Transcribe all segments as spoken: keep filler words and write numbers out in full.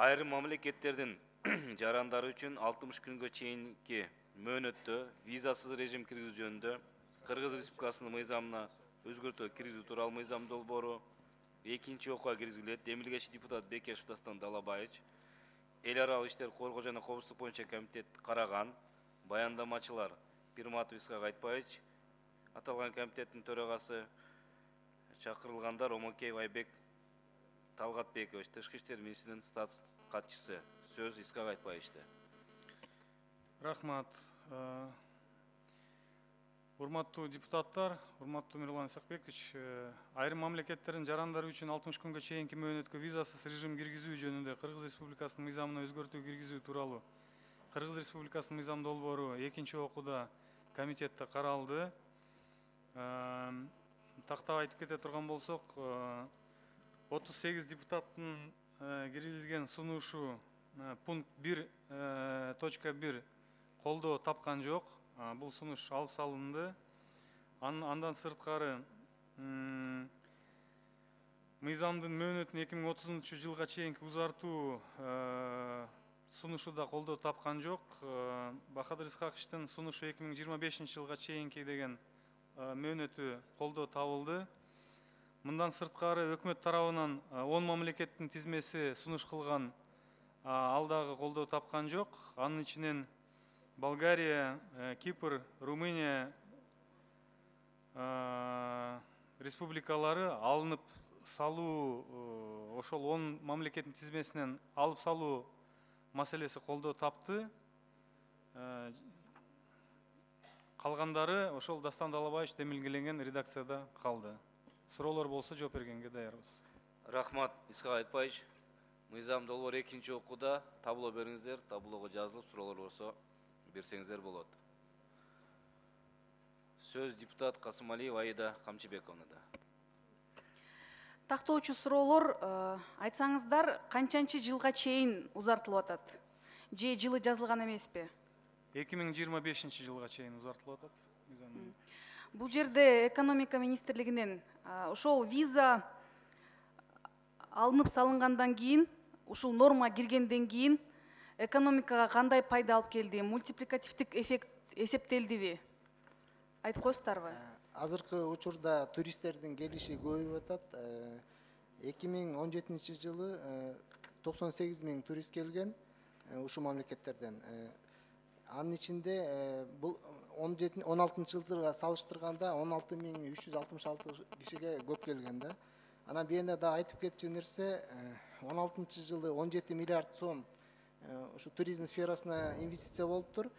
Айрым мамлекеттердин жарандары үчүн алтымыш күнгө чейинки мөөнөттө визасыз режим киргизүү жөнүндө Кыргыз Республикасынын мыйзамына өзгөртүү киргизүү тууралуу мыйзам долбоору экинчи окууга киргизилет. Демилгечи депутат Бекешев Дастан Далабаевич, эл аралык иштер коргоо жана коопсуздук боюнча комитет караган. Баяндамачылар Пирматов Исхак Айтбаевич, аталган комитеттин төрагасы, чакырылгандар Омокеев Айбек Талгатбекович, Тышкы иштер министринин статс катчысы. Сөз Исхак Айтбаевичте. Рахмат. Урматтуу депутаттар, урматтуу Мирлан Исакбекович, айрым мамлекеттердин жарандары үчүн алтымыш күнгө чейинки мөөнөткө визасыз режим киргизүү жөнүндө Кыргыз Республикасынын мыйзамына өзгөртүү киргизүү тууралуу Кыргыз Республикасынын мыйзам долбоору экинчи окууда комитетте каралды. Тактап айтып кете турган болсок, отуз сегиз депутаттын киргизилген сунушу пункт бир точка бир колдоо тапкан жок. Бул сунуш алып салынды. Андан сырткары мыйзамдын мөөнөтүн эки миң отузунчу жылга чейинки узартуу сунушу да колдоо тапкан жок. Бахадыр Исхаковичтин сунушу эки миң жыйырма бешинчи жылга чейинки деген мөөнөтү колдоо табылды. Мындан сырткары өкмөт тарабынан он мамлекеттин тизмеси сунуш кылган, ал дагы колдоо тапкан жок. Анын ичинен Болгария, Кипр, Румыния республикалары алынып салуу, ошол он мамлекеттин тизмесинен алып салуу маселеси колдоо тапты. Калгандары ошол Дастан Далабаевич демилгеленген редакцияда калды. Суроолор болсо жооп бергенге даярбыз. Рахмат, Исхак Айтбаевич. Мыйзам долбоору экинчи окууда табло бериңиздер, таблого жазылып, суроолор болсо берсеңиздер болот. Сөз депутат Касымалиева Аида Камчыбековнада. Тактоочу суроолор, айтсаңыздар, канчанчы жылга чейин узартылып атат? Же жылы жазылган эмеспи? эки миң жыйырма бешинчи жылга чейин узартылып атат. Бул жерде экономика министрлигинен ошол виза алынып салынгандан кийин, ушул норма киргенден кийин экономикага кандай пайда алып келди? Мультипликативдик эффект эсептелдиби? Айтып коесуздарбы? Азыркы учурда туристтердин келиши көбөйүп атат. эки миң он жетинчи жылы токсон сегиз миң турист келген ушул мамлекеттерден. Анын ичинде бул он алтынчы жылга салыштырганда он алты миң үч жүз алтымыш алты кишиге көп келген да. Анан бияна да айтып кетчү нерсе, он алтынчы жылы он жети миллиард сом ушу туризм сферасына инвестиция болуптур.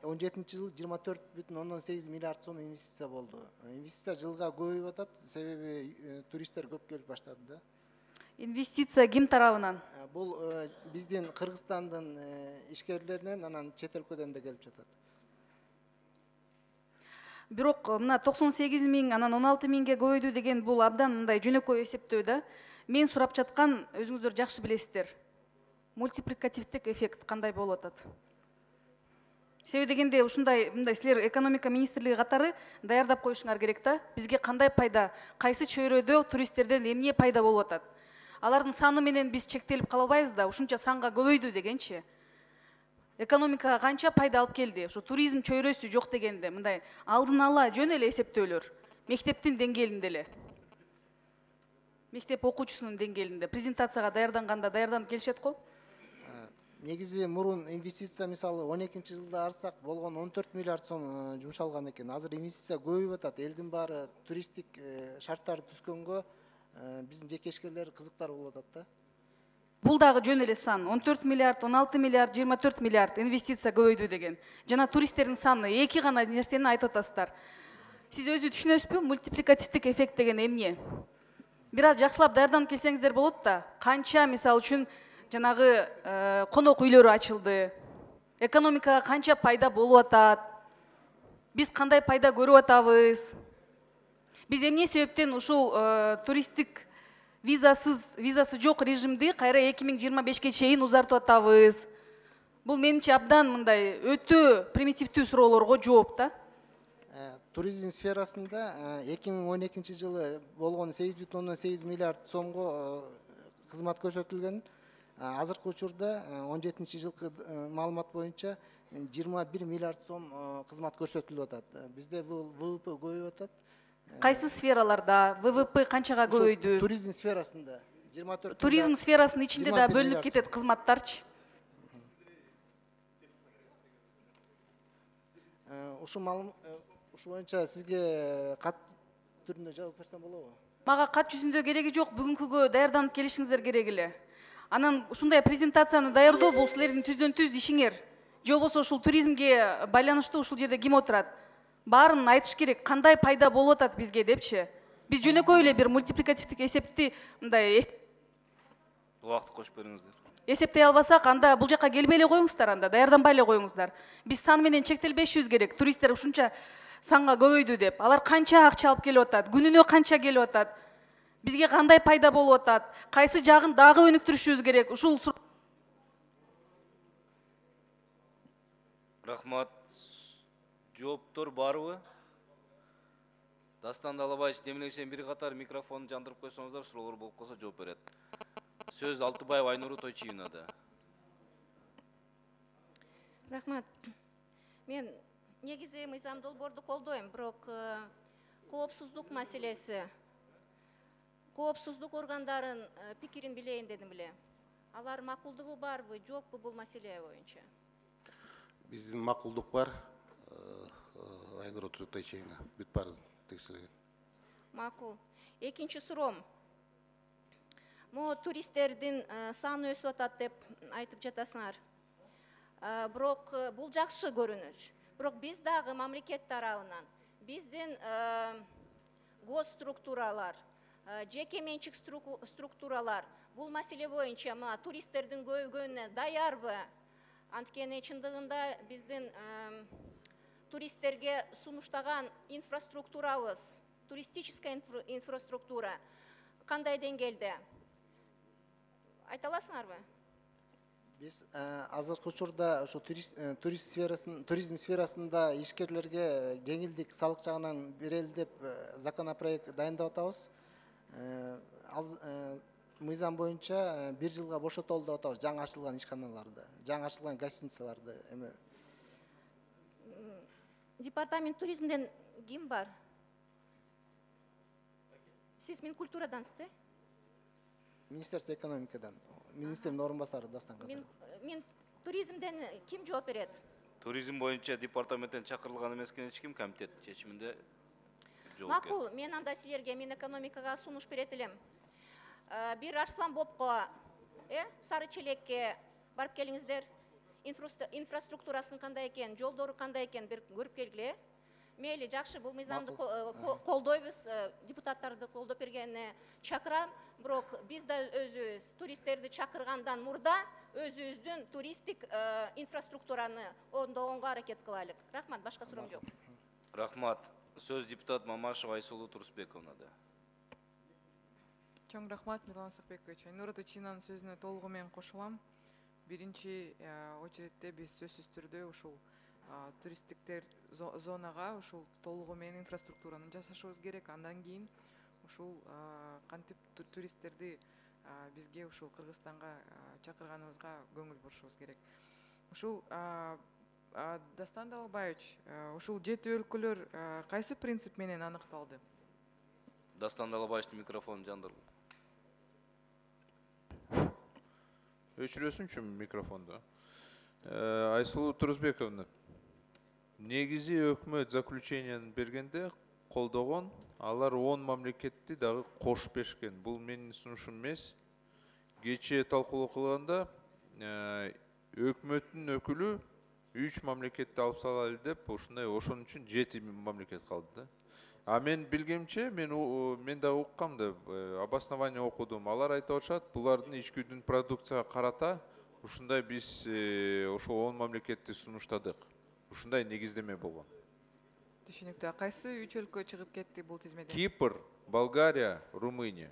он жетинчи жылы жыйырма төрт бүтүн ондон сегиз миллиард сом инвестиция болду. Инвестиция жылга көбөйүп атат, себеби туристтер көп келип баштады да. Инвестиция ким тарабынан? Бул биздин Кыргызстандын ишкерлеринен, анан чет өлкөдөн да келип жатат. Бирок мына токсон сегиз миң, анан он алты миңге көбөйдү деген бул абдан мындай жөнөкөй эсептөө да. Мен сурап жаткан, өзүңүздөр жакшы билесиздер. Мультипликативдик эффект кандай болуп атат? Себеби дегенде ушундай мындай силер экономика министрлиги катары даярдап коюшуңар керек да. Бизге кандай пайда, кайсы чөйрөдө туристтерден эмне пайда болуп атат? Алардын саны менен биз чектелип кала албайбыз да, ушунча санга көбөйдү дегенчи. Экономикага канча пайда алып келди? Ушу туризм чөйрөсү жок дегенде мындай алдын ала жөн эле эсептөөлөр. Мектептин деңгээлинде эле. Мектеп окуучусунун деңгээлинде презентацияга даярданганда даярданып келишет го. Негизи мурун инвестиция мисалы он экинчи жылда арсак болгон он төрт миллиард сом жумшалган экен. Азыр инвестиция көбөйүп атат. Элдин баары туристтик шарттар түзгөнгө биздин жеке ишкерлер кызыктар болуп атат да. Бул дагы жөн эле сан. он төрт миллиард, он алты миллиард, жыйырма төрт миллиард инвестиция көбөйдү деген. Жана туристтердин саны эки гана нерсени айтып атасыздар. Сиз өзү түшүнөсүзбү? Мультипликативдик эффект деген эмне? Бир аз жакшылап даярданып келсеңиздер болот да. Канча мисалы үчүн жанагы конок үйлөрү ачылды. Экономикага канча пайда болуп атат? Биз кандай пайда көрүп атабыз? Биз эмне себептен ушул туристтик визасыз, визасы жок режимди кайра эки миң жыйырма бешке чейин узартып атабыз? Бул менимче абдан мындай өтө примитивдүү суроолорго жооп да. Туризм сферасында эки миң он экинчи жылы болгон сегиз бүтүн ондон сегиз миллиард сомго кызмат көрсөтүлгөн. азыркы учурда он жетинчи жылкы маалымат боюнча жыйырма бир миллиард сом кызмат көрсөтүлүп атат. Бизде бул вэ вэ пэ көбөйүп атат. Кайсы сфераларда вэ вэ пэ канчага көбөйдү? Туризм сферасында жыйырма төрт. Туризм сферасынын ичинде да жыйырма бир бөлүнүп миллиард. кетет кызматтарчы. Ушул маалым ушул боюнча сизге кат түрүндө жооп берсем болобу? Мага кат жүзүндө кереги жок, бүгүнкүгө даярданып келишиңиздер керек эле. Анан ушундай презентацияны даярдоо бул силердин түздөн түз ишиңер. Же болбосо ушул туризмге байланыштуу ушул жерде ким отурат? Баарын айтыш керек, кандай пайда болуп атат бизге депчи. Биз жөнөкөй эле бир мультипликативдик эсепти мындай Убакытты кошуп бериңиздер. эсептей албасак, анда бул жака келбей эле коюңуздар, анда даярданбай эле коюңуздар. Биз сан менен чектелбешибиз керек. Туристтер ушунча санга көбөйдү деп. Алар канча акча алып келип атат? Күнүнө канча келип атат? Бизге кандай пайда болуп атат? Кайсы жагын дагы өнүктүрүшүбүз керек? Ушул Рахмат. Жооптор барбы? Дастан Далабаевич, демелешен бир катар микрофон жандырып койсоңуздар, суроолор болуп калса жооп берет. Сөз Алтыбаев Айнуру Тойчиевнада. Рахмат. Мен негизи мыйзам долбоорду колдойм, бирок коопсуздук маселеси, коопсуздук органдарын пикирин билейин дедим эле. Алар макулдугу барбы, жокпу бул маселе боюнча? Биздин макулдук бар. Айнура Тойчиевна, бүт баарын текшерген. Макул. Экинчи суроом. Могу туристтердин саны өсүп атат деп айтып жатасыңар. Бирок бул жакшы көрүнүш. Бирок биз дагы мамлекет тарабынан биздин госструктуралар, жеке менчик структуралар бул маселе боюнча мына туристтердин көбөйгөнүнө даярбы? Анткени чындыгында биздин туристтерге сунуштаган инфраструктурабыз, туристическая инфраструктура кандай деңгээлде? Айта аласыңарбы? Биз азыркы учурда ошо туризм сферасын туризм сферасында ишкерлерге жеңилдик салык жагынан берели деп законопроект дайындап атабыз. Ал мыйзам боюнча бир жылга бошотолду деп атабыз жаңы ачылган ишканаларды, жаңы ачылган гостиницаларды. Эми Департамент туризмден ким бар? Сиз Минкультурадансыз, да? Министерство экономикадан, министрдин орун басары Дастан Кадыров. Мен туризмден ким жооп берет? Туризм боюнча департаменттен чакырылган эмес экен, эч ким комитет чечиминде жооп. Макул, мен анда силерге мен экономикага сунуш берет элем. Бир Арслан Бопко, э, Сары Челекке барып келиңиздер. Инфраструктурасын кандай экен, жолдору кандай экен бир көрүп келгиле. Мейли, жакшы, бул мыйзамды колдойбуз, депутаттарды колдоп бергенине чакырам, бирок биз да өзүбүз туристтерди чакыргандан мурда өзүбүздүн туристтик инфраструктураны оңдогонго аракет кылайлык. Рахмат, башка суроом жок. Рахмат. Сөз депутат Мамашева Айсулуу Турусбековнада. Чоң рахмат, Мирлан Сакбекович. Айнура Тойчиевнанын сөзүнө толугу менен кошулам. Биринчи очередте биз сөзсүз түрдө ушул туристтиктер зонага ушул толугу менен инфраструктураны жасашыбыз керек. Андан кийин ушул кантип туристтерди бизге ушул Кыргызстанга чакырганыбызга көңүл бурушубуз керек. Ушул Дастан Далабаевич, ушул жети өлкөлөр кайсы принцип менен аныкталды? Дастан Далабаевичтин микрофонун жандыр. Өчүрөсүнчү микрофонду. Айсулуу Турусбековна, негизи өкмөт заключениянын бергенде колдогон, алар он мамлекетти дагы кошуп беришкен. Бул менин сунушум эмес. Кечээ талкуулоо кылганда өкмөттүн өкүлү үч мамлекетти алып салалы деп, ушундай ошон үчүн жети мамлекет калды да. А мен билгемче, мен мен да уккам да, обоснование окудум. Алар айтып атышат, булардын ичкүдүн продукцияга карата ушундай биз ошол он мамлекетти сунуштадык. Ушундай негиздеме болгон. Түшүнүктүү. Кайсы үч өлкө чыгып кетти бул тизмеден? Кипр, Болгария, Румыния.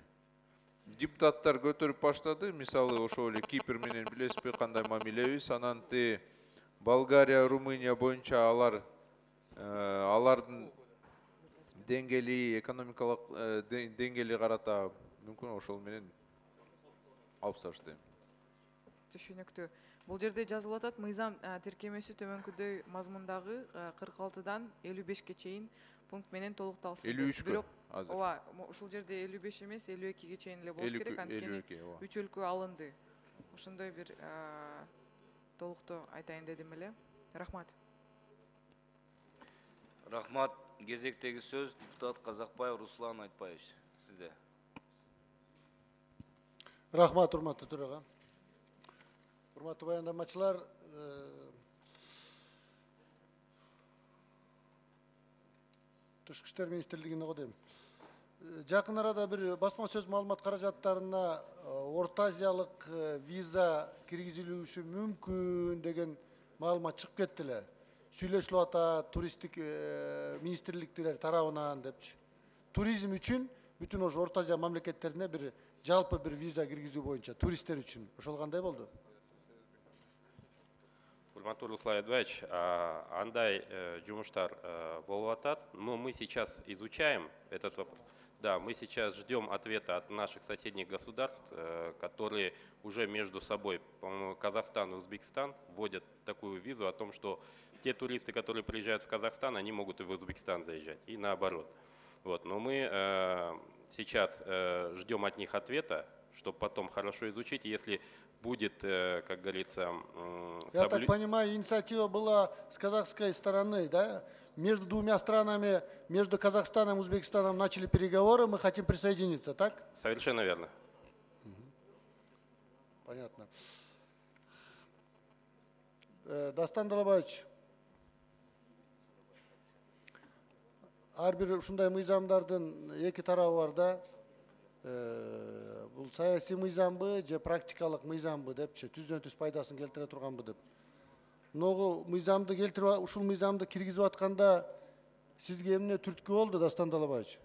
Депутаттар көтөрүп баштады. Мисалы, ошол эле Кипр менен билесизби кандай мамилебиз? Анан те Болгария, Румыния боюнча алар алардын деңгээли, экономикалык деңгээли карата мүмкүн ошол менен алып салыштайм. түшүнүктүү. Бул жерде жазылып атат, мыйзам тиркемеси төмөнкүдөй мазмундагы кырк алтыдан элүү бешке чейин пункт менен толукталсын. элүү үчкө Бирок азыр. ооба, ушул жерде элүү беш эмес, элүү экиге чейин эле болуш керек, анткени үч өлкө алынды. Ошондой бир толуктоо айтайын дедим эле. Рахмат. Рахмат. Кезектеги сөз депутат Казакбаев Руслан Айтбаевич. Сизде. Рахмат, урматтуу төрага. Урматтуу баяндамачылар, Тышкы иштер министрлигине го дейм. Жакын арада бир басма сөз маалымат каражаттарына Орто Азиялык виза киргизилүүшү мүмкүн деген маалымат чыгып кетти эле. Сүйлөшүлүп атат туристтик министрликтер тарабынан депчи. Туризм үчүн бүтүн ошо Орто Азия мамлекеттерине бир жалпы бир виза киргизүү боюнча туристтер үчүн. Ошол кандай болду? Урматтуу Руслан Айтбаевич, андай жумуштар болуп атат, но мы сейчас изучаем этот вопрос. Да, мы сейчас ждем ответа от наших соседних государств, которые уже между собой, по-моему, Казахстан и Узбекистан, вводят такую визу о том, что те туристы, которые приезжают в Казахстан, они могут и в Узбекистан заезжать, и наоборот. Вот, но мы э, сейчас э, ждем от них ответа, чтобы потом хорошо изучить, если будет, э, как говорится... Э, Я соблю... так понимаю, инициатива была с казахской стороны, да? Между двумя странами, между Казахстаном и Узбекистаном начали переговоры, мы хотим присоединиться, так? Совершенно верно. Понятно. Дастан Далабаевич, ар бир ушундай мыйзамдардын эки тарабы бар да. Бул саясий мыйзамбы же практикалык мыйзамбы депчи, түздөн түз пайдасын келтире турганбы деп. Ногу мыйзамды келтирип, ушул мыйзамды киргизип атканда сизге эмне түрткү болду, Дастан Далабаевич?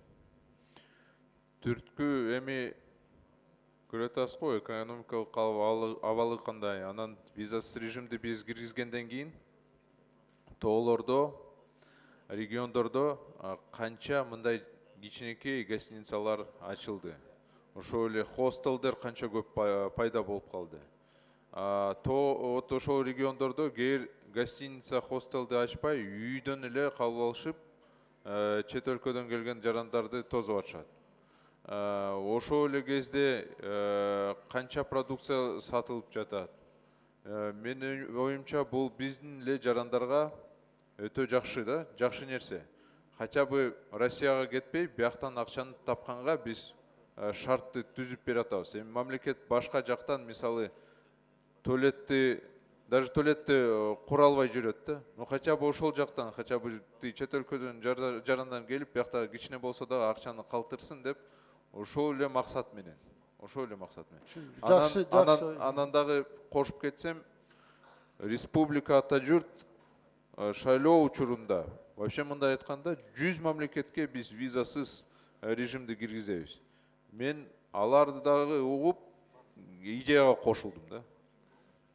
Түрткү эми көрө атасыз го, экономикалык абалы кандай. Анан визасыз режимди биз киргизгенден кийин тоолордо, региондордо канча мындай кичинекей гостиницалар ачылды. Ошол эле хостелдер канча көп пайда болуп калды. То ошол региондордо кээ гостиница, хостелди ачпай, үйдөн эле калып алышып, чет өлкөдөн келген жарандарды тосуп атышат. Ошол эле кезде канча продукция сатылып жатат. Менин оюмча бул биздин эле жарандарга өтө жакшы да, жакшы нерсе. Хотя бы Россияга кетпей, бияктан акчаны тапканга биз шартты түзүп бере атабыз. Эми мамлекет башка жактан, мисалы, туалетти, даже туалетти кура албай жүрөт да. Ну хотя бы ошол жактан, хотя бы чет өлкөдөн жарандан келип, биякта кичине болсо да акчаны калтырсын деп, ошол эле максат менен. Ошол эле максат менен. Жакшы, жакшы. Анан дагы кошуп кетсем, республика ата журт шайлоо учурунда, вообще мындай айтканда, жүз мамлекетке биз визасыз режимди киргизебиз. Мен аларды дагы угуп, идеяга кошулдум да.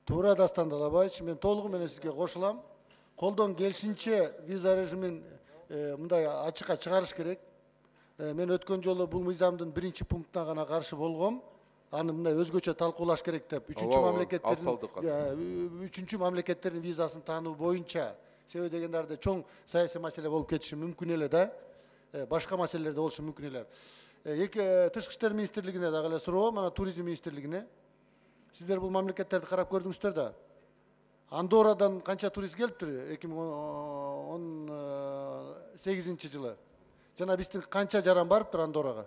Туура, Дастан Далабаевич, мен толугу менен сизге кошулам. Колдон келишинче виза режимин мындай ачыкка чыгарыш керек. Мен өткөн жолу бул мыйзамдын биринчи пунктуна гана каршы болгом. Аны мындай өзгөчө талкуулаш керек деп. Үчүнчү мамлекеттердин үчүнчү мамлекеттердин визасын таануу боюнча. Себеби дегендерде чоң саясий маселе болуп кетиши мүмкүн эле да. Башка маселелер да болушу мүмкүн эле. Эки Тышкы иштер министрлигине дагы эле суроо, мана туризм министрлигине. Сиздер бул мамлекеттерди карап көрдүңүздөр да. Андоррадан канча турист келиптир эки миң он сегизинчи жылы? Жана биздин канча жаран барыптыр Андоррага?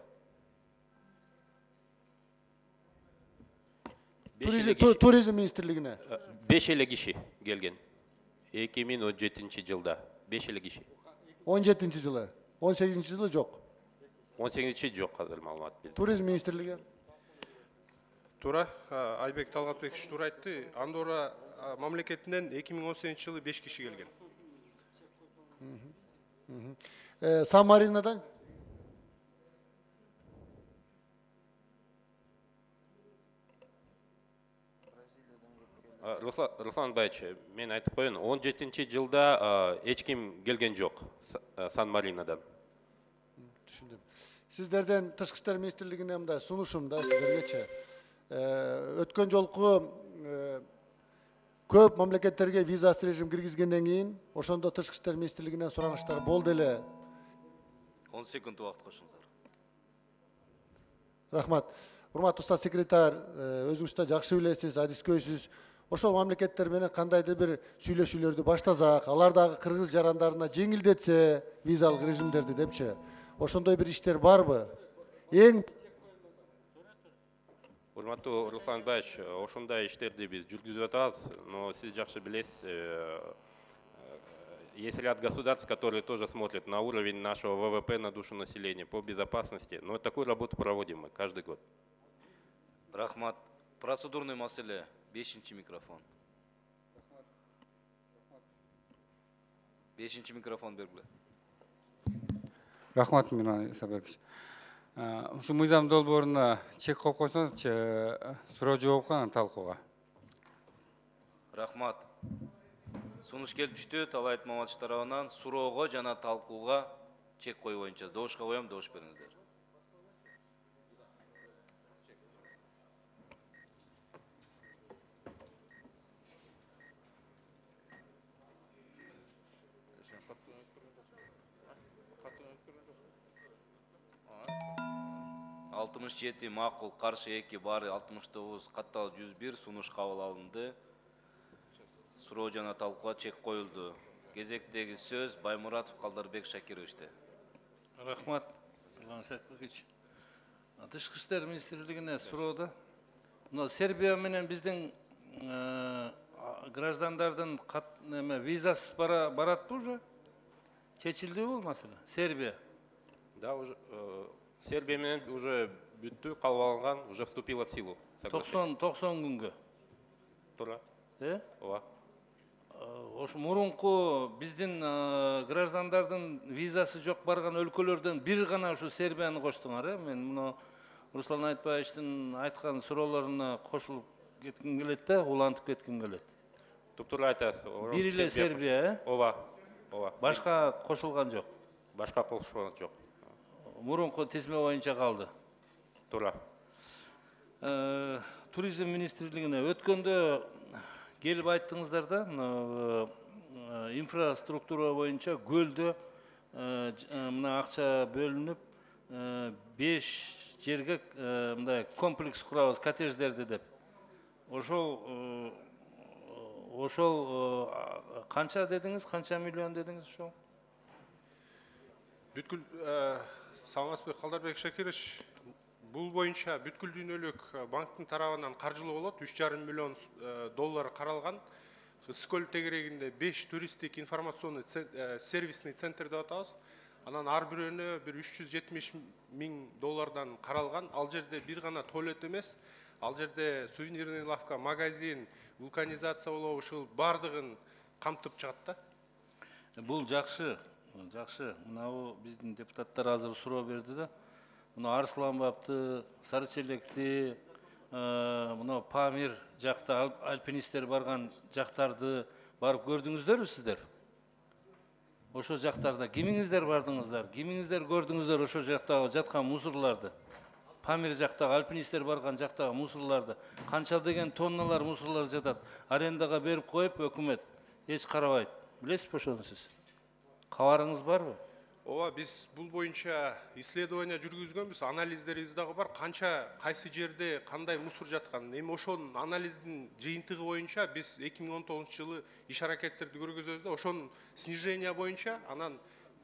Туризм министрлигине. беш эле киши келген. эки миң он жетинчи жылда беш эле киши. он жетинчи жылы. он сегизинчи жылы жок. он сегизинчи жок азыр маалымат. Туризм министрлиги. Туура, Айбек Талгатбекович туура айтты. Андорра мамлекетинен эки миң он сегизинчи жылы беш киши келген. Сан-Маринодан? Руслан Байч, мен айтып коеюн, он жетинчи жылда эч ким келген жок Сан-Маринодан. Түшүндүм. Сиздерден Тышкы иштер министрлигине мындай сунушум да сиздергечи. Өткөн жолку көп мамлекеттерге визасыз режим киргизгенден кийин ошондо тышкы иштер министрлигинен суранычтар болду эле. он секунд убакыт кошуңуздар. Рахмат. Урматтуу устаз секретарь, өзүңүз да жакшы билесиз, адискөйсүз. Ошол мамлекеттер менен кандайдыр бир сүйлөшүүлөрдү баштасак, алар дагы кыргыз жарандарына жеңилдетсе визалык режимдерди депчи. Ошондой бир иштер барбы? Эң Урматтуу Руслан Баевич, ошондой иштерди биз жүргүзүп атабыз, но сиз жакшы билесиз, есть ряд государств, которые тоже смотрят на уровень нашего вэ вэ пэ на душу населения по безопасности, но такую работу проводим мы каждый год. Рахмат. Процедурный маселе. Бешинчи микрофон. Бешинчи микрофон бергиле. Рахмат, Миран Исабекович. Ушу мыйзам долбооруна чек коюп койсоңузчу, суроо жооп кана талкууга. Рахмат. Сунуш келип түштү, Талайт Маматович тарабынан суроого жана талкууга чек коюу боюнча добушка коем, добуш бериңиздер. алтымыш жети макул, каршы эки бар, алтымыш тогуз катталуу жүз бир сунуш кабыл алынды. Суроо жана талкууга чек коюлду. Кезектеги сөз Баймуратов Калдарбек Шакировичте. Рахмат, Иван Сакбекович. Тышкы иштер министрлигине суроода. Мына Сербия менен биздин граждандардын визасыз баратпы уже? Чечилдиби бул маселе? Сербия. Да, уже Сербия менен уже бүттү, кабыл алынган, уже вступила в силу. токсон күнгө. Туура. Э? Ооба. Ош мурунку биздин граждандардын визасы жок барган өлкөлөрдөн бир гана ушу Сербияны коштуңар, э? Мен муну Руслан Айтбаевичтин айткан суроолоруна кошулуп кетким келет да, улантып кетким келет. Туптуура айтасыз. Бир эле Сербия, э? Ооба. Ооба. Башка кошулган жок. Башка кошулган жок. Мурунку тизме боюнча калды. Туура. Туризм министрлигине өткөндө келип айттыңыздар да, мына инфраструктура боюнча көлдө мына акча бөлүнүп беш жерге мындай комплекс курабыз, коттедждерди деп. Ошол ошол канча дедиңиз, канча миллион дедиңиз ошол? Бүткүл Саламатбек Калдарбек Шакирович, бул боюнча бүткүл дүйнөлүк банктын тарабынан каржылоо болот, үч жарым миллион доллар каралган. Ысык-Көл тегерегинде беш туристтик информационный сервисный центр деп атабыз. Анан ар бирөөнө бир үч жүз жетимиш миң доллардан каралган. Ал жерде бир гана туалет эмес, ал жерде сувенирный лавка, магазин, вулканизация болобу, ушул бардыгын камтып чыгат да. Бул жакшы, жакшы. Мына биздин депутаттар азыр суроо берди да. Мына Арсланбапты, Сарычелекти, мына Памир жакта альпинисттер барган жактарды барып көрдүңүздөрбү сиздер? Ошо жактарда кимиңиздер бардыңыздар, кимиңиздер көрдүңүздөр ошо жактагы жаткан мусорларды? Памир жактагы альпинисттер барган жактагы мусорларды, канча деген тонналар мусорлар жатат, арендага берип коюп өкмөт эч карабайт. Билесизби ошону сиз? Кабарыңыз барбы? Ооба, биз бул боюнча исследование жүргүзгөнбүз, анализдерибиз дагы бар. Канча кайсы жерде кандай мусор жаткан. Эми ошонун анализдин жыйынтыгы боюнча биз эки миң он тогузунчу жылы иш аракеттерди көргөзөбүз да, ошонун снижение боюнча анан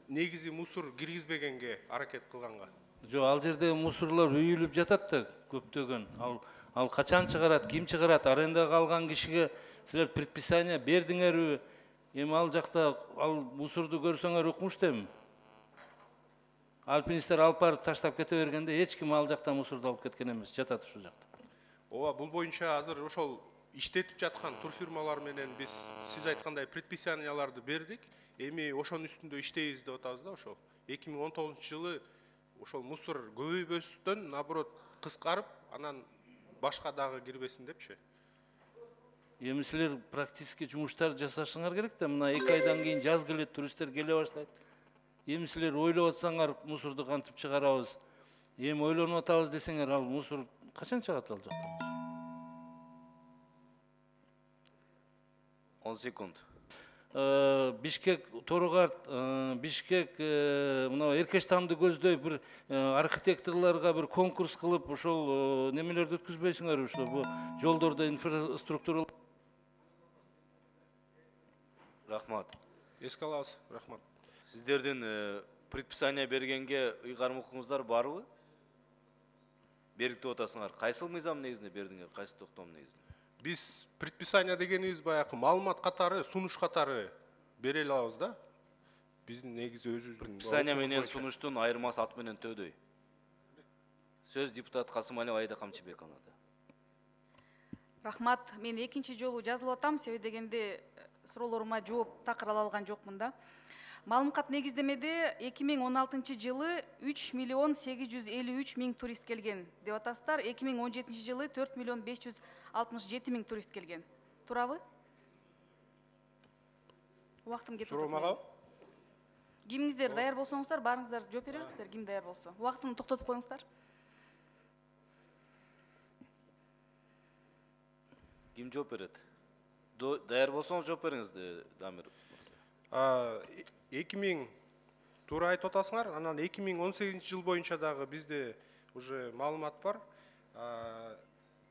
негизи мусор киргизбегенге аракет кылганга. Жок, ал жерде мусорлор үйүлүп жатат да көптөгөн. Ал ал качан чыгарат, ким чыгарат, арендага алган кишиге силер предписание бердиңерби? Эми ал жакта ал мусорду көрсөңөр укмуштемби? Альпинисттер алып барып таштап кете бергенде эч ким ал жакта мусорду алып кеткен эмес, жатат ушул жакта. Ооба, бул боюнча азыр ошол иштетип жаткан турфирмалар менен биз сиз айткандай предписанияларды бердик. Эми ошонун үстүндө иштейбиз деп атабыз да, ошол эки миң он тогузунчу жылы ошол мусор көбөйбөстөн, наоборот, кыскарып, анан башка дагы кирбесин депчи. Эми силер практически жумуштар жасашыңар керек да, мына эки айдан кийин жаз келет, туристтер келе баштайт. Эми силер ойлоп атсаңар, мусорду кантип чыгарабыз? Эми ойлонуп атабыз десеңер, ал мусор качан чыгат ал жактан? он секунд. Э, Бишкек Торгарт, э, Бишкек э, мына эркеш тамды көздөй бир э, архитекторлорго бир конкурс кылып ошол э, немелерди өткүзбөйсүңөрбү, что бу жолдордо инфраструктура. Рахмат. Эске алабыз. Рахмат. Сиздердин э, предписание бергенге ыйгарым укуңуздар барбы? Бериктеп атасыңар. Кайсыл мыйзам негизинде бердиңер, кайсы токтом негизинде? Биз предписание дегенибиз баягы маалымат катары, сунуш катары бере алабыз да. Биздин негизи өзүбүздүн Предписание менен сунуштун айырмасы ат менен төдөй. Сөз депутат Касымалиев Аида Камчыбековнада. Рахмат. Мен экинчи жолу жазылып атам, себеби дегенде суроолорума жооп такыр ала алган жокмун да. Маалымат негиздемеде эки миң он алтынчы жылы үч миллион сегиз жүз элүү үч миң турист келген деп атасыздар. эки миң он жетинчи жылы төрт миллион беш жүз алтымыш жети миң турист келген. Туурабы? Убактым кетип атат. Суроомага? Кимиңиздер даяр болсоңуздар, барыңыздар жооп бересиздер, ким даяр болсо. Убактын токтотуп коюңуздар. Ким жооп берет? Даяр болсоңуз жооп бериңиз, Дамир. эки миң туура айтып атасыңар. Анан эки миң он сегизинчи жыл боюнча дагы бизде уже маалымат бар.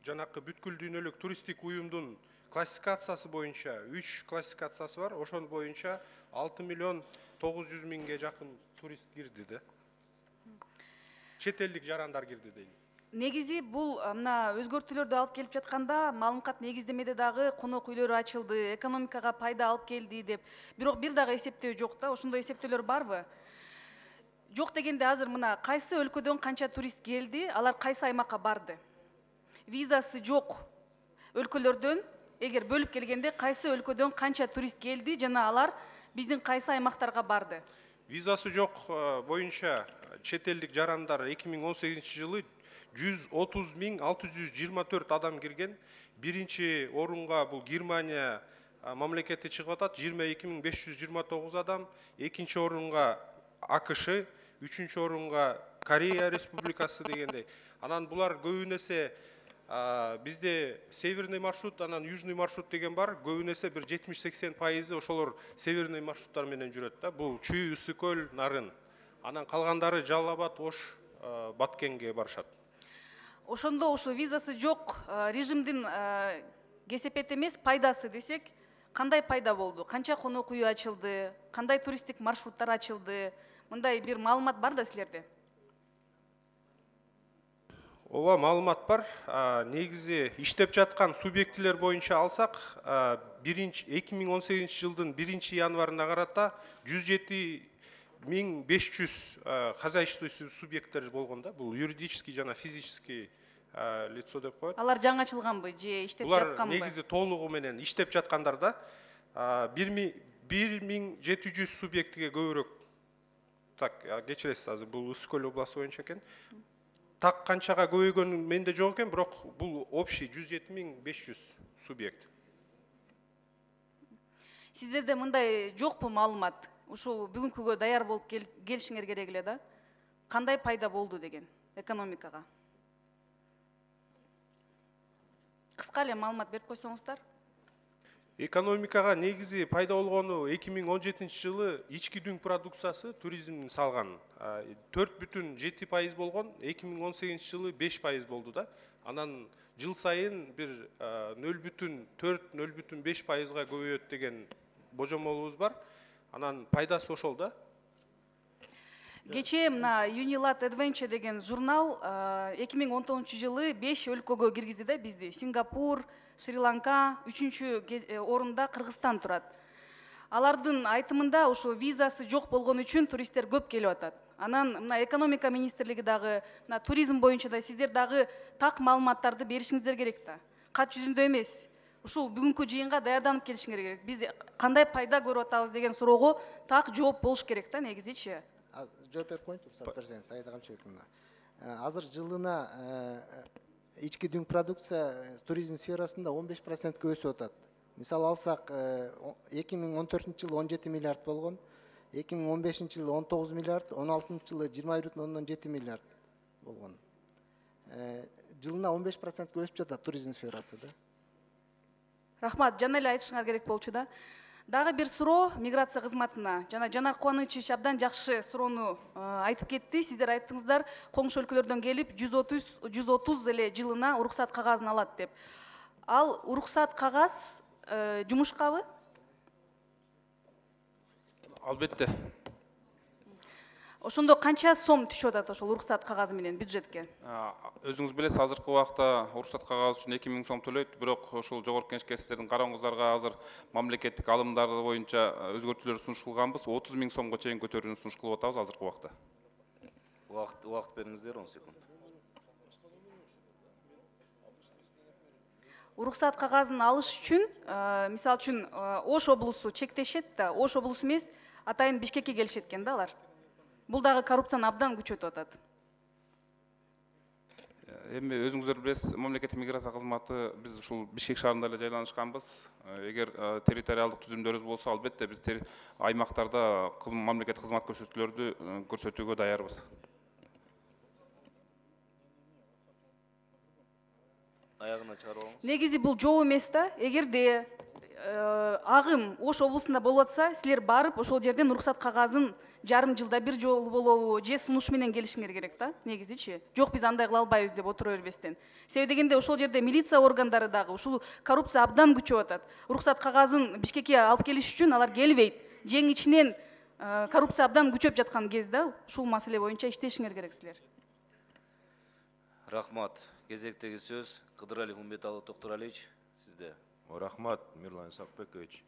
Жанакы бүткүл дүйнөлүк туристтик уюмдун классификациясы боюнча үч классификациясы бар. Ошол боюнча алты миллион тогуз жүз миңге жакын турист кирди да. Чет элдик жарандар кирди дейли. Негизи бул мына өзгөртүүлөрдү алып келип жатканда маалымат негиздемеде дагы конок үйлөрү ачылды, экономикага пайда алып келди деп. Бирок бир дагы эсептөө жок да. Ошондой эсептөөлөр барбы? Жок дегенде азыр мына кайсы өлкөдөн канча турист келди, алар кайсы аймакка барды? Визасы жок өлкөлөрдөн эгер бөлүп келгенде кайсы өлкөдөн канча турист келди жана алар биздин кайсы аймактарга барды? Визасы жок боюнча чет элдик жарандар эки миң он сегизинчи жылы жүз отуз миң алты жүз жыйырма төрт адам кирген. Биринчи орунга бул Германия мамлекети чыгып атат, жыйырма эки миң беш жүз жыйырма тогуз адам. Экинчи орунга АКШ, үчүнчү орунга Корея Республикасы дегендей. Анан булар көбүн эсе бизде северный маршрут, анан южный маршрут деген бар. Көбүн эсе бир жетимиш сексен пайызы ошолор северный маршруттар менен жүрөт да. Бул Чүй, Ысыкөл, Нарын. Анан калгандары Жалал Абад, Ош, Баткенге барышат. Ошондо ушу визасы жок режимдин кесепети эмес пайдасы десек, кандай пайда болду? Канча конок үй ачылды? Кандай туристтик маршруттар ачылды? Мындай бир маалымат бар да силерде? Ооба, маалымат бар. Негизи иштеп жаткан субъектилер боюнча алсак, эки миң он сегизинчи жылдын биринчи январына карата жүз жети миң беш жүз хозяйственный субъекттер болгон да. Бул юридический жана физический лицо деп коет. Алар жаңы ачылганбы же иштеп жатканбы? Булар негизи толугу менен иштеп жаткандар да. бир миң жети жүз субъектиге көбүрөөк. Так, кечиресиз, азыр бул Ысыкөл областы боюнча экен. Так канчага көбөйгөн менде жок экен, бирок бул общий жүз жети миң беш жүз субъект. Сиздерде мындай жокпу маалымат? Ушул бүгүнкүгө даяр болуп келишиңер керек эле да. Кандай пайда болду деген экономикага? Кыска эле маалымат берип койсоңуздар. Экономикага негизи пайда болгону эки миң он жетинчи жылы ички дүң продукциясы туризмдин салган төрт бүтүн жети пайыз болгон, эки миң он сегизинчи жылы беш пайыз болду да. Анан жыл сайын бир нөл бүтүн төрт нөл бүтүн беш пайызга көбөйөт деген божомолубуз бар. Анан пайдасы ошол да. Кечээ мына Unilat Adventure деген журнал эки миң он тогузунчу жылы беш өлкөгө киргизди да бизди. Сингапур, Шри-Ланка, үчүнчү орунда Кыргызстан турат. Алардын айтымында ошо визасы жок болгон үчүн туристтер көп келип атат. Анан мына экономика министрлиги дагы, мына туризм боюнча да сиздер дагы так маалыматтарды беришиңиздер керек да. Кат жүзүндө эмес. Ушул бүгүнкү жыйынга даярданып келишиңер керек. Биз кандай пайда көрүп атабыз деген суроого так жооп болуш керек да негизичи. Жооп берип коеюн, уруксат берсеңиз, Аида Камчыбековна. Азыр жылына ички дүң продукция туризм сферасында он беш процентке өсүп атат. Мисалы алсак, эки миң он төртүнчү жылы он жети миллиард болгон, эки миң он бешинчи жылы он тогуз миллиард, он алтынчы жылы жыйырма бир бүтүн ондон жети миллиард болгон. Жылына он беш процентке өсүп жатат туризм сферасы да. Рахмат, жана эле айтышыңар керек болчу да. Дагы бир суроо миграция кызматына. Жана Жанар Кубанычевич абдан жакшы суроону айтып кетти. Сиздер айттыңыздар, коңшу өлкөлөрдөн келип жүз отуз эле жылына уруксат кагазын алат деп. Ал уруксат кагаз жумушкабы? Албетте. Ошондо канча сом түшүп атат ошол уруксат кагазы менен бюджетке? Өзүңүз билесиз, азыркы убакта уруксат кагазы үчүн эки миң сом төлөйт, бирок ошол жогорку кеңешке сиздердин карооңуздарга азыр мамлекеттик алымдар боюнча өзгөртүүлөр сунушталганбыз, отуз миң сомго чейин көтөрүүнү сунуш кылып атабыз азыркы убакта. Убакыт убакыт бериңиздер, он секунд. Уруксат кагазын алыш үчүн, мисалы үчүн Ош облусу чектешет да, Ош облусу эмес, атайын Бишкекке келишет экен да алар. Бул дагы коррупцияны абдан күчөтүп атат. Эми өзүңүздөр билесиз, мамлекеттик миграция кызматы биз ушул Бишкек шаарында эле жайланышканбыз. Эгер территориалдык түзүмдөрүбүз болсо, албетте биз аймактарда мамлекеттик кызмат көрсөтүүлөрдү көрсөтүүгө даярбыз. Аягына чыгарып алыңыз. Негизи бул жоо эмес да. Эгерде агым Ош облусунда болуп атса, силер барып ошол жерден уруксат кагазын жарым жылда бир жолу болобу, же сунуш менен келишиңер керек да, негизичи. Жок, биз андай кыла албайбыз деп отура бербестен. Себеби дегенде ошол жерде милиция органдары дагы ушул коррупция абдан күчөп атат. Уруксат кагазын Бишкекке алып келиш үчүн алар келбейт. Жең ичинен коррупция абдан күчөп жаткан кезде ушул маселе боюнча иштешиңер керек силер. Рахмат. Кезектеги сөз Кыдыралиев Умбеталы Токтуралиевич, сизде. Рахмат, Мирлан Исакбекович.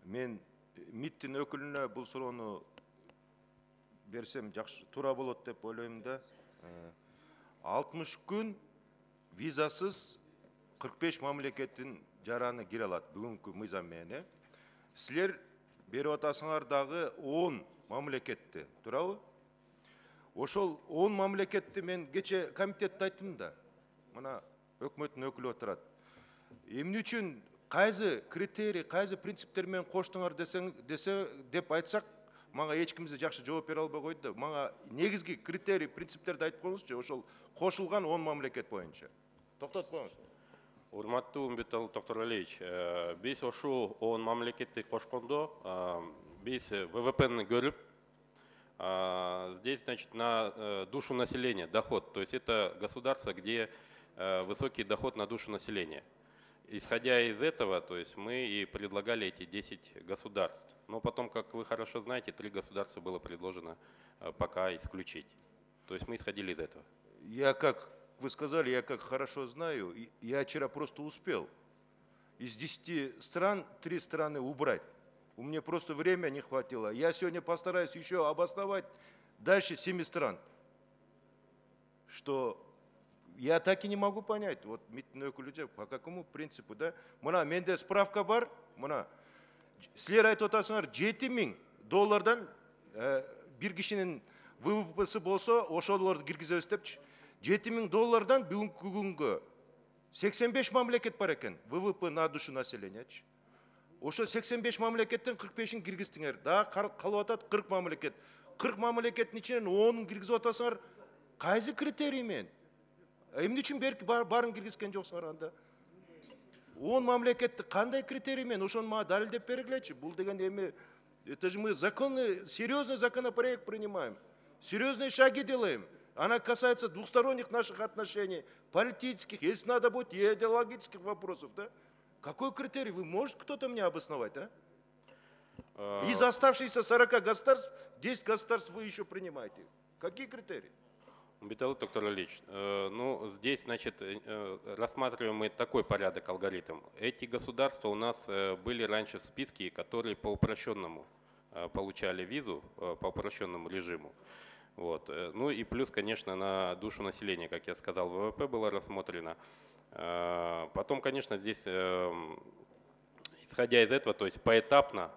Мен МИДтин өкүлүнө бул суроону берсем жакшы туура болот деп ойлойм да. алтымыш күн визасыз кырк беш мамлекеттин жараны кире алат бүгүнкү мыйзам менен. Силер берип атасыңар дагы он мамлекетти, туурабы? Ошол он мамлекетти мен кече комитетте айттым да. Мына өкмөттүн өкүлү отурат. Эмне үчүн кайсы критерий, кайсы принциптер менен коштуңар десең, десе деп айтсак, мага эч ким жакшы жооп бере албай койду да. Мага негизги критерий, принциптерди айтып коюңузчу, ошол кошулган он мамлекет боюнча. Токтотуп коюңуз. Урматтуу Умбеталы Токтуралиевич, биз ошол он мамлекетти кошкондо, биз ВВПны көрүп, здесь, значит, на душу населения доход, то есть это государство, где высокий доход на душу населения. Исходя из этого, то есть мы и предлагали эти десять государств. Но потом, как вы хорошо знаете, три государства было предложено пока исключить. То есть мы исходили из этого. Я, как вы сказали, я как хорошо знаю, я вчера просто успел из десяти стран три страны убрать. У меня просто время не хватило. Я сегодня постараюсь еще обосновать дальше семи стран, что я так и не могу понять, вот МИДтин өкүлү по какому принципу, да? Мына менде справка бар, мына силер айтып атасыңар жети миң доллардан бир кишинин ВВПсы болсо, ошолорду киргизебиз депчи. жети миң доллардан бүгүнкү күнгө сексен беш мамлекет бар экен, ВВП на душу населениячи. Ошо сексен беш мамлекеттен кырк бешин киргиздиңер. Дагы калып атат кырк мамлекет. кырк мамлекеттин ичинен онун киргизип атасыңар, кайсы критерий менен? Эмне үчүн барын киргизген жоксуңар анда? он мамлекетти кандай критерий менен ошону мага далилдеп бергилечи. Бул деген эми, это же мы законный, серьезный законопроект принимаем, серьезные шаги делаем. Она касается двусторонних наших отношений, политических, если надо будет, и идеологических вопросов, да? Какой критерий? Вы можете кто-то мне обосновать, а? Из оставшихся сорока государств, десять государств вы еще принимаете. Какие критерии? Умбеталы Токтуралиевич, ну здесь, значит, рассматриваем мы такой порядок, алгоритм. Эти государства у нас были раньше в списке, которые по упрощенному получали визу, по упрощенному режиму. Вот. Ну и плюс, конечно, на душу населения, как я сказал, ВВП было рассмотрено. Потом, конечно, здесь, исходя из этого, то есть поэтапно,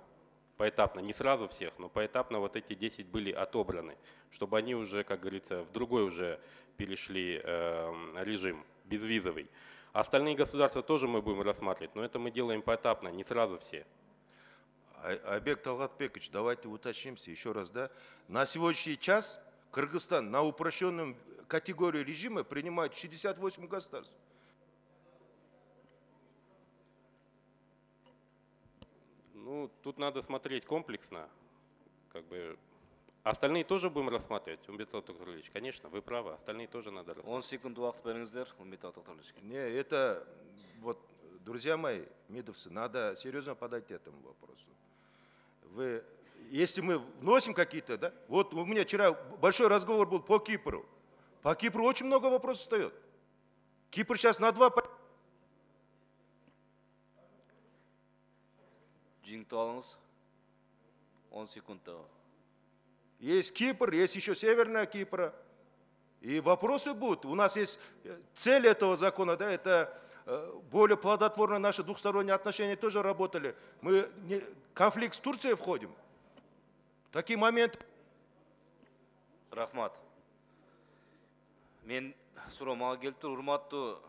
поэтапно, не сразу всех, но поэтапно вот эти десять были отобраны, чтобы они уже, как говорится, в другой уже перешли режим, безвизовый. Остальные государства тоже мы будем рассматривать, но это мы делаем поэтапно, не сразу все. Айбек Талгатбекович, давайте уточнимся еще раз, да? На сегодняшний час Кыргызстан на упрощенном категории режима принимает шестьдесят восемь государств. Ну, тут надо смотреть комплексно. Как бы остальные тоже будем рассматривать, Умбетал Токтурлевич. Конечно, вы правы, остальные тоже надо рассматривать. он секунд убакыт бериңиздер, Умбетал Токтурлевич. Не, это, вот, друзья мои, мидовцы, надо серьезно подойти к этому вопросу. Вы, если мы вносим какие-то, да, вот у меня вчера большой разговор был по Кипру. По Кипру очень много вопросов встает. Кипр сейчас на два... Жиңтип алыңыз. он секундта. Есть Кипр, есть еще Северная Кипра. И вопросы будут. У нас есть цель этого закона, да, это более плодотворно наши двухсторонние отношения тоже работали. Мы не, конфликт с Турцией входим. Такие моменты. Рахмат. Мен суроо мага келип тур, урматтуу.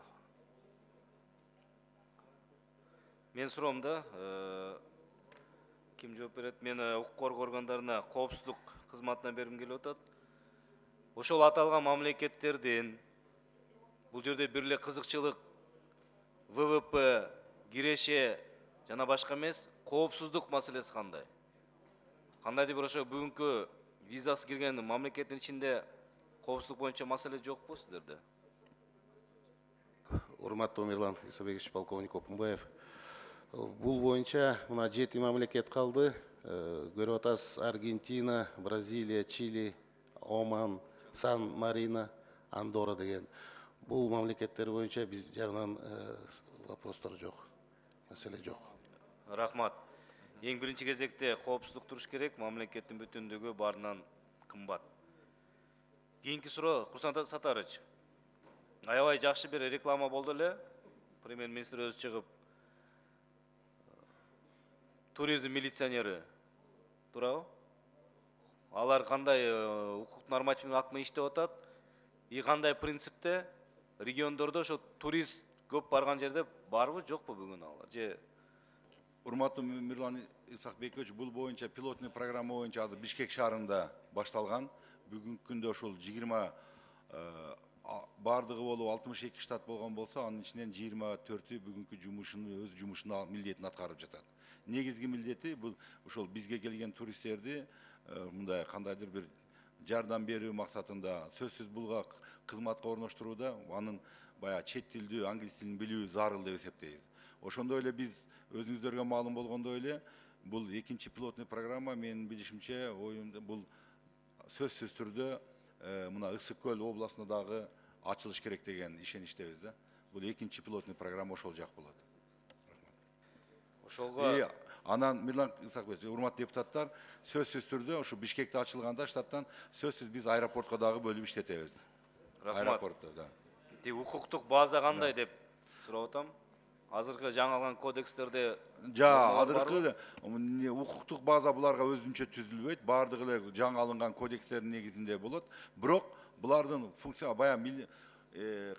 Мен суроомда ким жооп берет? Мен укук коргоо органдарына коопсуздук кызматына бергим келип атат. Ошол аталган мамлекеттердин бул жерде бир эле кызыкчылык вэ вэ пэ, киреше жана башка эмес, коопсуздук маселеси кандай? Кандайдыр бир ошо бүгүнкү визасы кирген мамлекеттин ичинде коопсуздук боюнча маселе жокпу сиздерде? Урматтуу Мирлан Исабекович, полковник Опунбаев. Бул боюнча мына жети мамлекет калды. Көрүп атасыз: Аргентина, Бразилия, Чили, Оман, Сан-Марино, Андорра деген. Бул мамлекеттер боюнча биз жагынан вопростор жок, маселе жок. Рахмат. Эң биринчи кезекте коопсуздук туруш керек, мамлекеттин бүтүндүгү баарынан кымбат. Кийинки суроо, Курсан Сатарыч. Аябай жакшы бир реклама болду эле. Премьер-министр өзү чыгып туризм милиционери, туурабы? Алар кандай укук нормативдик акт менен иштеп атат? И кандай принципте региондордо ошо турист көп барган жерде барбы, жокпу бүгүн алар? Же Урматтуу Мирлан Исакбекович, бул боюнча пилотный программа боюнча азыр Бишкек шаарында башталган. Бүгүнкү күндө ошол жыйырма бардыгы болуп алтымыш эки штат болгон болсо, анын ичинен жыйырма төртү бүгүнкү жумушун өз жумушун милдетин аткарып жатат. Негизги милдети бул ошол бизге келген туристтерди мындай кандайдыр бир жардам берүү максатында, сөзсүз булга кызматка орноштурууда анын баягы чет тилдүү, англис тилин билүү зарыл деп эсептейбиз. Ошондой эле биз өзүңүздөргө маалым болгондой эле бул экинчи пилотный программа менин билишимче оюмда бул сөзсүз түрдө мына Ысык көл областында дагы ачылыш керек деген ишеничтебиз да. Бул экинчи пилотный программа ошол жак болот. Ошолго анан Мирлан Исакбекович, урматтуу депутаттар, сөзсүз түрдө ошо Бишкекте ачылганда штаттан сөзсүз биз аэропортко дагы бөлүп иштетебиз. Рахмат. Аэропортто, да. Тек укуктук база кандай деп сурап атам. Азыркы жаңалган кодекстерде жа азыркы укуктук база буларга өзүнчө түзүлбөйт, баардыгы эле жаңы алынган кодекстердин негизинде болот. Бирок булардын функция баягы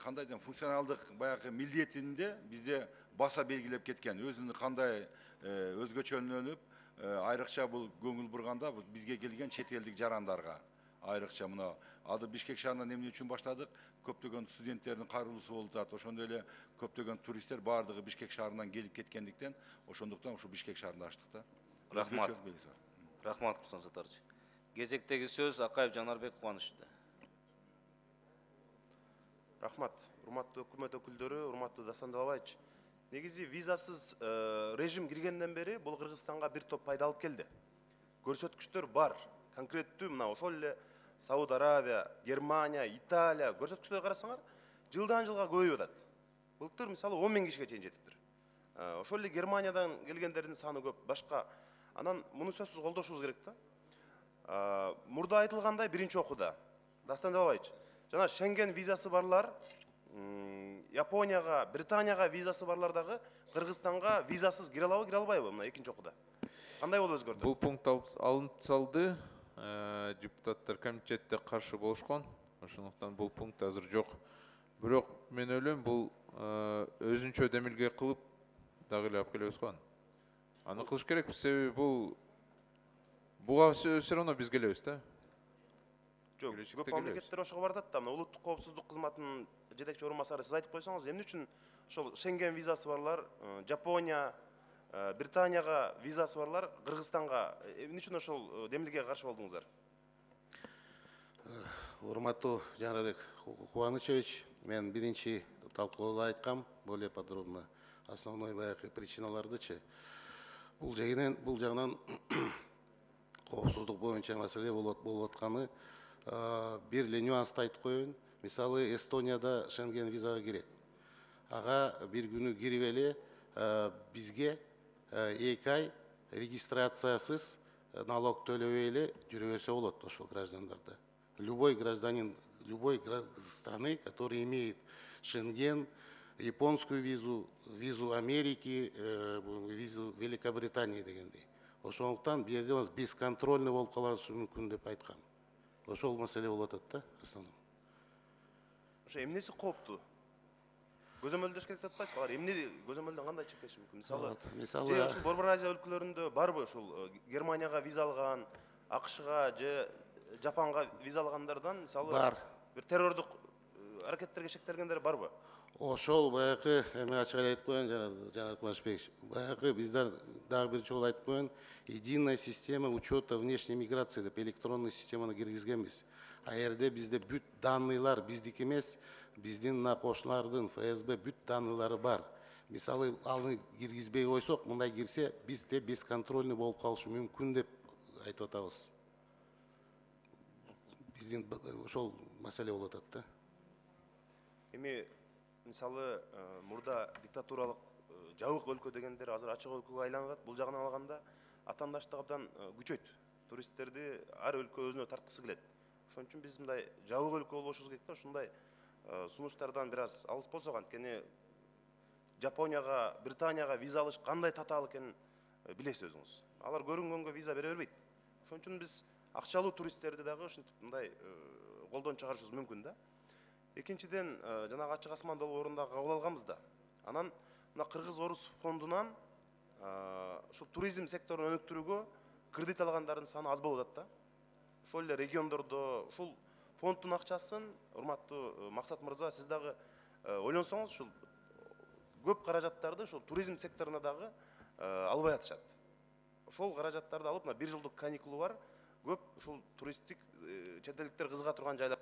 кандай дейм, функционалдык баягы милдетинде бизде баса белгилеп кеткен. Өзүнүн кандай өзгөчөлөнүп, айрыкча бул көңүл бурганда бизге келген чет элдик жарандарга айрыкча мына азыр Бишкек шаарынан эмне үчүн баштадык? Көптөгөн студенттердин кайрылуусу болуп атат. Ошондой эле көптөгөн туристтер баардыгы Бишкек шаарынан келип кеткендиктен, ошондуктан ушу Бишкек шаарында ачтык да. Рахмат. Рахмат, Курсан Сатарыч. Кезектеги сөз Акаев Жанарбек Кубанычта. Рахмат. Урматтуу өкмөт өкүлдөрү, урматтуу Дастан Далабаевич. Негизи визасыз режим киргенден бери бул Кыргызстанга бир топ пайда алып келди. Көрсөткүчтөр бар. Конкреттүү мына ошол эле Сауд Аравия, Германия, Италия көрсөткүчтөргө карасаңар, жылдан жылга көбөйүп атат. Былтыр мисалы он миң кишиге чейин жетиптир. Ошол эле Германиядан келгендердин саны көп, башка. Анан муну сөзсүз колдошубуз керек да. Мурда айтылгандай биринчи окууда Дастан Далабаевич, жана Шенген визасы барлар, Японияга, Британияга визасы барлар дагы Кыргызстанга визасыз кире алабы, кире албайбы мына экинчи окууда? Кандай болуп өзгөрдү? Бул пункт алынып салды. Депутаттар комитетте каршы болушкон. Ошондуктан бул пункт азыр жок. Бирок мен ойлойм, бул өзүнчө демилге кылып дагы эле алып келебиз го. Аны кылыш керек, себеби бул буга все равно биз келебиз да. Жок, көп мамлекеттер ошого бардат да. Мына улуттук коопсуздук кызматынын жетекчи орун басары сиз айтып койсоңуз, эмне үчүн ошол Шенген визасы барлар, Жапония, Британияга визасы барлар Кыргызстанга эмне үчүн ошол демилгеге каршы болдуңуздар? Урматтуу Жанарбек Кубанычевич, мен биринчи талкууда айткам более подробно основной баягы причиналардычы. Бул жагынан бул жагынан коопсуздук боюнча маселе болуп атканы бир эле нюансты айтып коеюн. Мисалы Эстонияда Шенген визага кирет. Ага бир күнү кирип эле бизге эки ай регистрациясыз налог төлөбөй эле жүрө берсе болот ошол граждандарда. Любой гражданин любой страны, который имеет Шенген, японскую визу, визу Америки, визу Великобритании дегендей. Ошондуктан бул жерде бесконтрольный болуп калышы мүмкүн деп айткам. Ошол маселе болуп атат да основном. Ошо эмнеси кооптуу? Көзөмөлдөш керек деп атпайсызбы? Алар эмне көзөмөлдөн кандай чыгып кетиши мүмкүн? Мисалы, мисалы же ушул Борбор Азия өлкөлөрүндө барбы ушул Германияга виза алган, АКШга же Жапонго виза алгандардан мисалы бар. Бир террордук аракеттерге шектелгендер барбы? Ошол баягы эме ачык айтып коеюн, Жанар Кубанычбекович. Баягы биздер дагы бир жолу айтып коеюн, единая система учета внешней миграции деп электронный системаны киргизгенбиз. А жерде бизде бүт данныйлар биздики эмес, биздин мына кошуналардын эф эс бэ бүт данныйлары бар. Мисалы аны киргизбей койсок, мындай кирсе, бизде бесконтрольный болуп калышы мүмкүн деп айтып атабыз. Биздин ошол маселе болуп атат да. Эми мисалы мурда диктатуралык жабык өлкө дегендер азыр ачык өлкөгө айланат. Бул жагынан алганда атаандаштык абдан күчөйт. Туристтерди ар өлкө өзүнө тарткысы келет. Ошон үчүн биз мындай жабык өлкө болушубуз керек да, ушундай сунуштардан бир аз алыс болсок, анткени Жапонияга, Британияга виза алыш кандай татаал экенин билесиз өзүңүз. Алар көрүнгөнгө виза бере бербейт. Ошон үчүн биз акчалуу туристтерди дагы ушинтип мындай колдон чыгарышыбыз мүмкүн да. Экинчиден, жанагы ачык асман долбоорунда кабыл алганбыз да. Анан мына Кыргыз-Орус фондунан ушул туризм секторун өнүктүрүүгө кредит алгандардын саны аз болуп атат да. Ошол эле региондордо ушул фонддун акчасын, урматтуу Максат мырза, сиз дагы ойлонсоңуз, ушул көп каражаттарды ушул туризм секторуна дагы албай атышат. Ошол каражаттарды алып, мына бир жылдык каникулу бар, көп ушул туристтик чет элдиктер кызыга турган жайлар.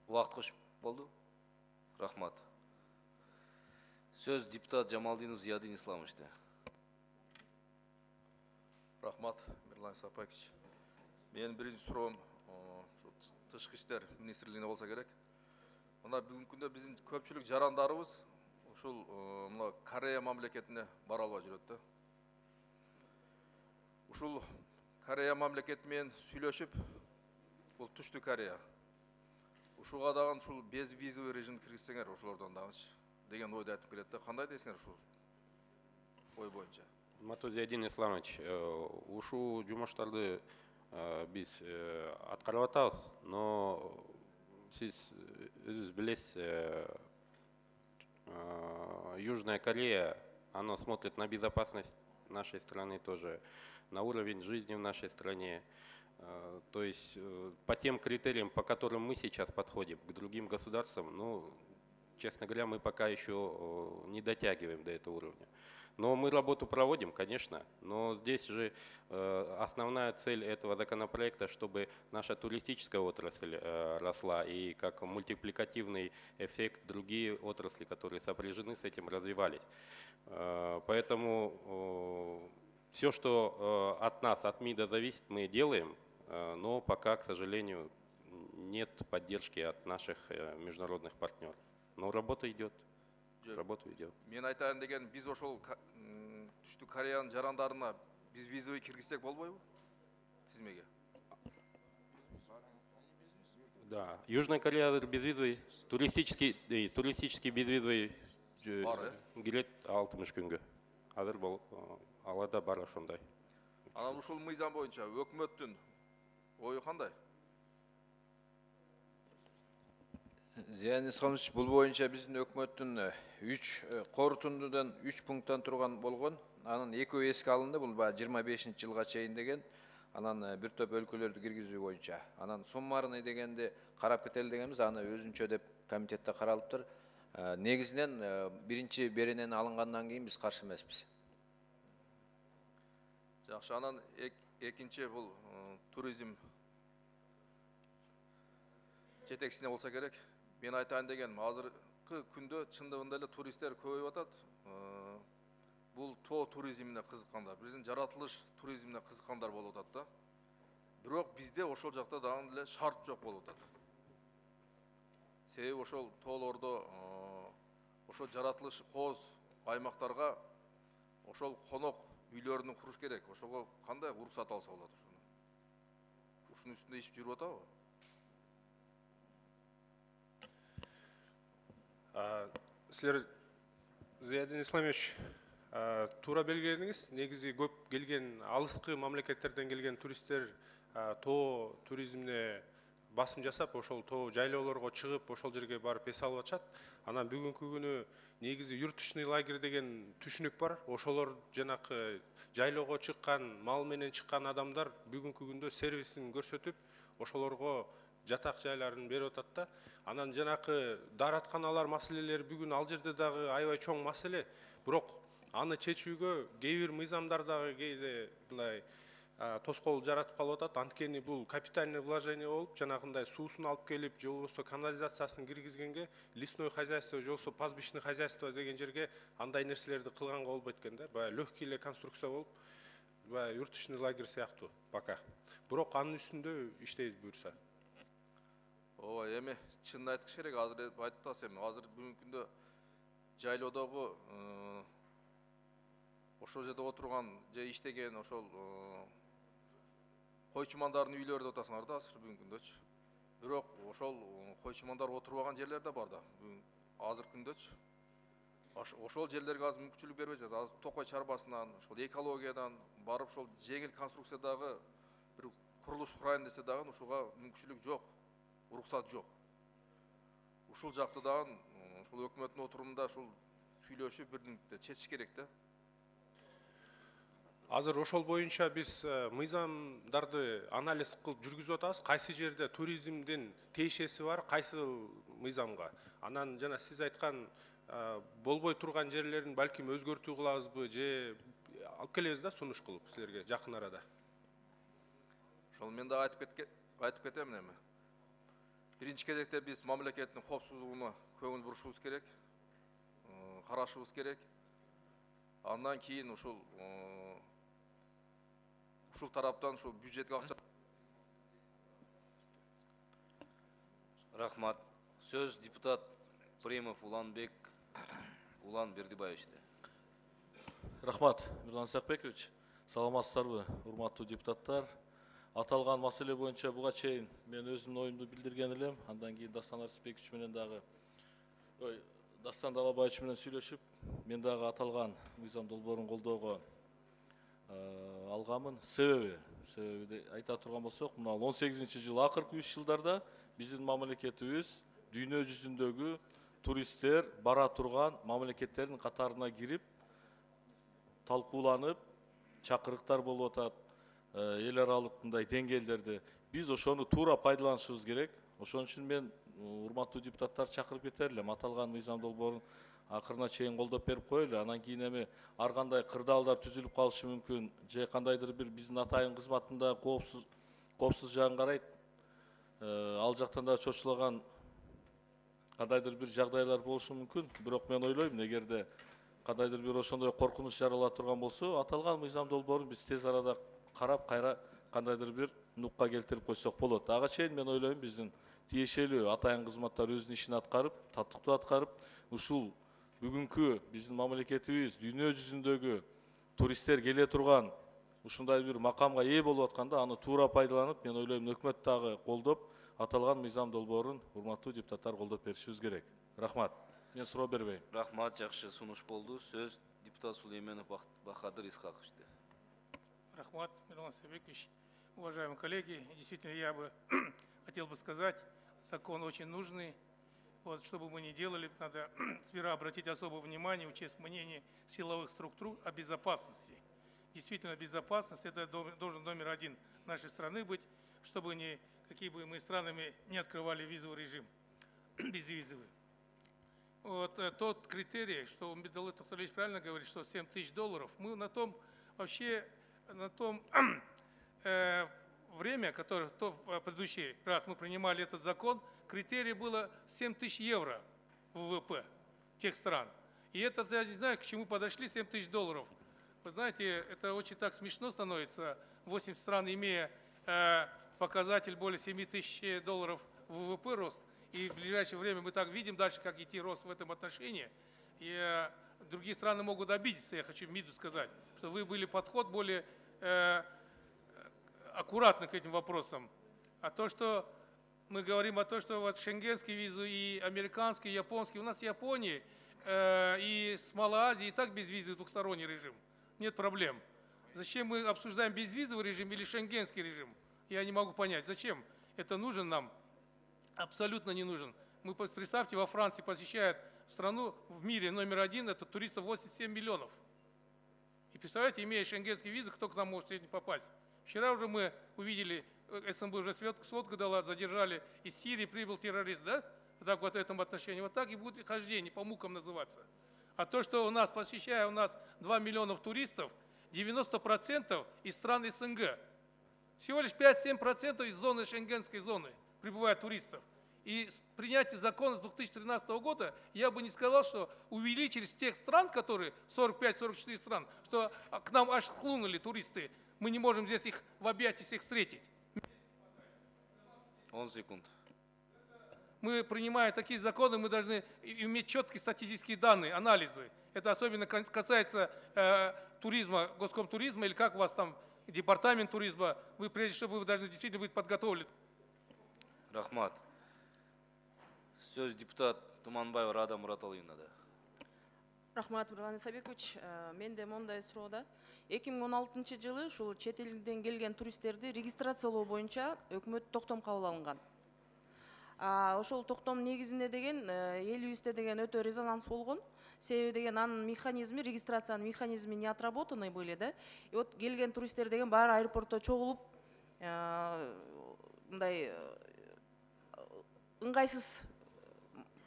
Убакыт кошуп болду. Рахмат. Сөз депутат Жамалдинов Зиядин Исламовичте. Рахмат, Мирлан Сапаевич. Менин биринчи суроом тышкы иштер министрлигине болсо керек. Мына бүгүнкү күндө биздин көпчүлүк жарандарыбыз ушул мына Корея мамлекетине бара албай жүрөт да. Ушул Корея мамлекети менен сүйлөшүп, бул Түштүк Корея. Ушуга дагы ушул без визовый режим киргизсеңер ошолордон дагычы деген ойду айтып келет да. Кандай дейсиңер ушул ой боюнча? Матузиадин Исламович, ушул жумуштарды биз аткарып атабыз, но сиз өзүңүз билесиз, Южная Корея, она смотрит на безопасность нашей страны тоже, на уровень жизни в нашей стране. То есть по тем критериям, по которым мы сейчас подходим к другим государствам, ну, честно говоря, мы пока еще не дотягиваем до этого уровня. Но мы работу проводим, конечно, но здесь же э, основная цель этого законопроекта, чтобы наша туристическая отрасль э, росла и как мультипликативный эффект другие отрасли, которые сопряжены с этим, развивались. Э, поэтому э, все, что э, от нас, от МИДа зависит, мы делаем, э, но пока, к сожалению, нет поддержки от наших э, международных партнеров. Но работа идет. Работа идет. Мен айтайын деген, биз ошол Түштүк Кореянын жарандарына биз визовый киргизсек болбойбу? Тизмеге. Да, Южная Корея безвизовый, туристический, э, туристический безвизовый кирет алтымыш күнгө. Азыр бол алада бар ошондой. Анан ушул мыйзам боюнча өкмөттүн ою кандай? Зиядин Исламович, бул боюнча биздин өкмөттүн үч корутундудан үч пункттан турган болгон. Анын экөө эске алынды, бул баягы жыйырма бешинчи жылга чейин деген. Анан бир топ өлкөлөрдү киргизүү боюнча. Анан суммарный дегенди карап кетели дегенбиз, аны өзүнчө деп комитетте каралыптыр. Негизинен биринчи беренени алынгандан кийин биз каршы эмеспиз. Жакшы, анан экинчи бул туризм жетекчисине болсо керек. Мен айтайын дегеним, азыркы күндө чындыгында эле туристтер көбөйүп атат. Бул тоо туризмине кызыккандар, биздин жаратылыш туризмине кызыккандар болуп атат да. Бирок бизде ошол жакта дагы эле шарт жок болуп атат. Себеби ошол тоолордо ошол жаратылыш кооз аймактарга ошол конок үйлөрүн куруш керек. Ошого кандай уруксат алса болот ошону? Ушунун үстүндө иш жүрүп атабы? Силер, Зиядин Исламович, туура белгиледиңиз. Негизи көп келген алыскы мамлекеттерден келген туристтер тоо туризмине басым жасап, ошол тоо жайлоолорго чыгып, ошол жерге барып эс алып атышат. Анан бүгүнкү күнү негизи юртучный лагерь деген түшүнүк бар. Ошолор жанакы жайлоого чыккан, мал менен чыккан адамдар бүгүнкү күндө сервисин көрсөтүп, ошолорго жатак жайларын берип атат да. Анан жанакы дааратканалар маселелери бүгүн ал жерде дагы аябай чоң маселе. Бирок аны чечүүгө кээ бир мыйзамдар дагы кээде мындай тоскоол жаратып калып атат. Анткени бул капитальный вложение болуп, жанагындай суусун алып келип, же болбосо канализациясын киргизгенге лесное хозяйство, же болбосо пастбищный хозяйство деген жерге андай нерселерди кылганга болбойт экен да. Баягы легкий эле конструкция болуп, баягы юртучный лагерь сыяктуу пока. Бирок анын үстүндө иштейбиз буюрса. Ооба, эми чынын айткыш керек, азыр айтып атасыз эми, азыр бүгүнкү күндө жайлоодогу ошол жерде отурган же иштеген ошол койчумандардын үйлөрү деп атасыңар да азыр бүгүнкү күндөчү. Бирок ошол койчумандар отурбаган жерлер да бар да азыркы күндөчү. Ошол жерлерге азыр мүмкүнчүлүк бербей жатат. Азыр токой чарбасынан, ошол экологиядан барып ошол жеңил конструкциядагы бир курулуш курайын десе дагы ушуга мүмкүнчүлүк жок. Уруксат жок. Ушул жакты дагы ушул өкмөттүн отурумунда ушул сүйлөшүп бирдикте чечиш керек да. Азыр ошол боюнча биз мыйзамдарды анализ кылып жүргүзүп атабыз. Кайсы жерде туризмдин тиешеси бар, кайсы мыйзамга. Анан жана сиз айткан болбой турган жерлерин балким өзгөртүү кылабызбы же алып келебиз да сунуш кылып силерге жакын арада. Ошол мен дагы айтып айтып кетем эми. Биринчи кезекте биз мамлекеттин коопсуздугуна көңүл бурушубуз керек, карашыбыз керек. Андан кийин ушул ушул тараптан ушул бюджетке акча. Рахмат. Сөз депутат Премов Уланбек Улан Бердибаевичте. Рахмат, Мирлан Исакбекович. Саламатсыздарбы, урматтуу депутаттар. Аталган маселе боюнча буга чейин мен өзүмдүн оюмду билдирген элем. Андан кийин Дастан Арсызбекович менен дагы ой, Дастан Далабаевич менен сүйлөшүп, мен дагы аталган мыйзам долбоорун колдоого алганмын. Себеби, себеби айта турган болсок, мына он сегизинчи жыл акыркы үч жылдарда биздин мамлекетибиз дүйнө жүзүндөгү туристтер бара турган мамлекеттердин катарына кирип, талкууланып, чакырыктар болуп атат. Эл аралык мындай деңгээлдерди биз ошону туура пайдаланышыбыз керек. Ошон үчүн мен урматтуу депутаттар чакырып кетер элем. Аталган мыйзам долбоорун акырына чейин колдоп берип коелу. Анан кийин эми ар кандай кырдаалдар түзүлүп калышы мүмкүн. Же кандайдыр бир биздин атайын кызматында коопсуз коопсуз жагын карайт. Ал жактан да чочулаган кандайдыр бир жагдайлар болушу мүмкүн. Бирок мен ойлойм, эгерде кандайдыр бир ошондой коркунуч жарала турган болсо, аталган мыйзам долбоорун биз тез арада карап, кайра кандайдыр бир нукка келтирип койсок болот. Ага чейин мен ойлойм, биздин тиешелүү атайын кызматтар өзүнүн ишин аткарып, таттыктуу аткарып, ушул бүгүнкү биздин мамлекетибиз дүйнө жүзүндөгү туристтер келе турган ушундай бир макамга ээ болуп атканда, аны туура пайдаланып, мен ойлойм, өкмөт дагы колдоп, аталган мыйзам долбоорун урматтуу депутаттар колдоп беришибиз керек. Рахмат. Мен суроо бербейм. Рахмат, жакшы сунуш болду. Сөз депутат Сулейменов Бахадыр Исхаковичте. Рахмат, Мирлан Исакбекович. Уважаемые коллеги, действительно, я бы хотел бы сказать, закон очень нужный. Вот, что бы мы ни делали, надо сперва обратить особое внимание, учесть мнение силовых структур о безопасности. Действительно, безопасность – это должен номер один нашей страны быть, чтобы ни, какие бы мы странами не открывали визовый режим, безвизовый. вот э, тот критерий, что Медалыт Тохталевич правильно говорит, что семь тысяч долларов, мы на том вообще, на том э, время, которое в то, в предыдущий раз мы принимали этот закон, критерий было семь тысяч евро в ВВП тех стран. И это, я не знаю, к чему подошли семь тысяч долларов. Вы знаете, это очень так смешно становится, восемь стран, имея э, показатель более семи тысяч долларов в ВВП рост, и в ближайшее время мы так видим дальше, как идти рост в этом отношении. И э, другие страны могут обидеться, я хочу МИДу сказать, что вы были подход более э, аккуратный к этим вопросам. А то, что мы говорим о том, что вот шенгенские визы и американские, и японские, у нас в Японии э, и с Малой Азией и так безвизовый двухсторонний режим, нет проблем. Зачем мы обсуждаем безвизовый режим или шенгенский режим? Я не могу понять, зачем это нужен нам? Абсолютно не нужен. Мы, представьте, во Франции посещает страну в мире номер один, это туристов восемьдесят семь миллионов. И представляете, имея шенгенские визы, кто к нам может сегодня попасть? Вчера уже мы увидели, СМБ уже сводку дала, задержали, из Сирии прибыл террорист, да? Так вот в этом отношении. Вот так и будет хождение, по мукам называться. А то, что у нас, посещая у нас два миллиона туристов, девяносто процентов из стран СНГ. Всего лишь пять-семь процентов из зоны шенгенской зоны прибывает туристов. И с принятием закона с две тысячи тринадцатого года я бы не сказал, что увеличились тех стран, которые сорок пять — сорок четыре стран, что к нам аж хлынули туристы. Мы не можем здесь их в объятии всех встретить. он секунд. Мы, принимая такие законы, мы должны иметь четкие статистические данные, анализы. Это особенно касается э, туризма, госкомтуризма, или как у вас там, департамент туризма. Вы, прежде всего, вы должны действительно быть подготовлены. Рахмат. Сөз депутат Туманбаева Рада Мураталыевна да. Рахмат, Нурлан Исабекович. Мен де мондай суроодо. эки миң он алтынчы жылы ушул чет элден келген туристтерди регистрациялоо боюнча өкмөт токтом кабыл алынган. Ошол токтом негизинде деген элибизде деген өтө резонанс болгон. Себеби деген анын механизми, регистрациянын механизми не отработанный были, да? И вот келген туристтер деген баары аэропортто чогулуп, мындай ыңгайсыз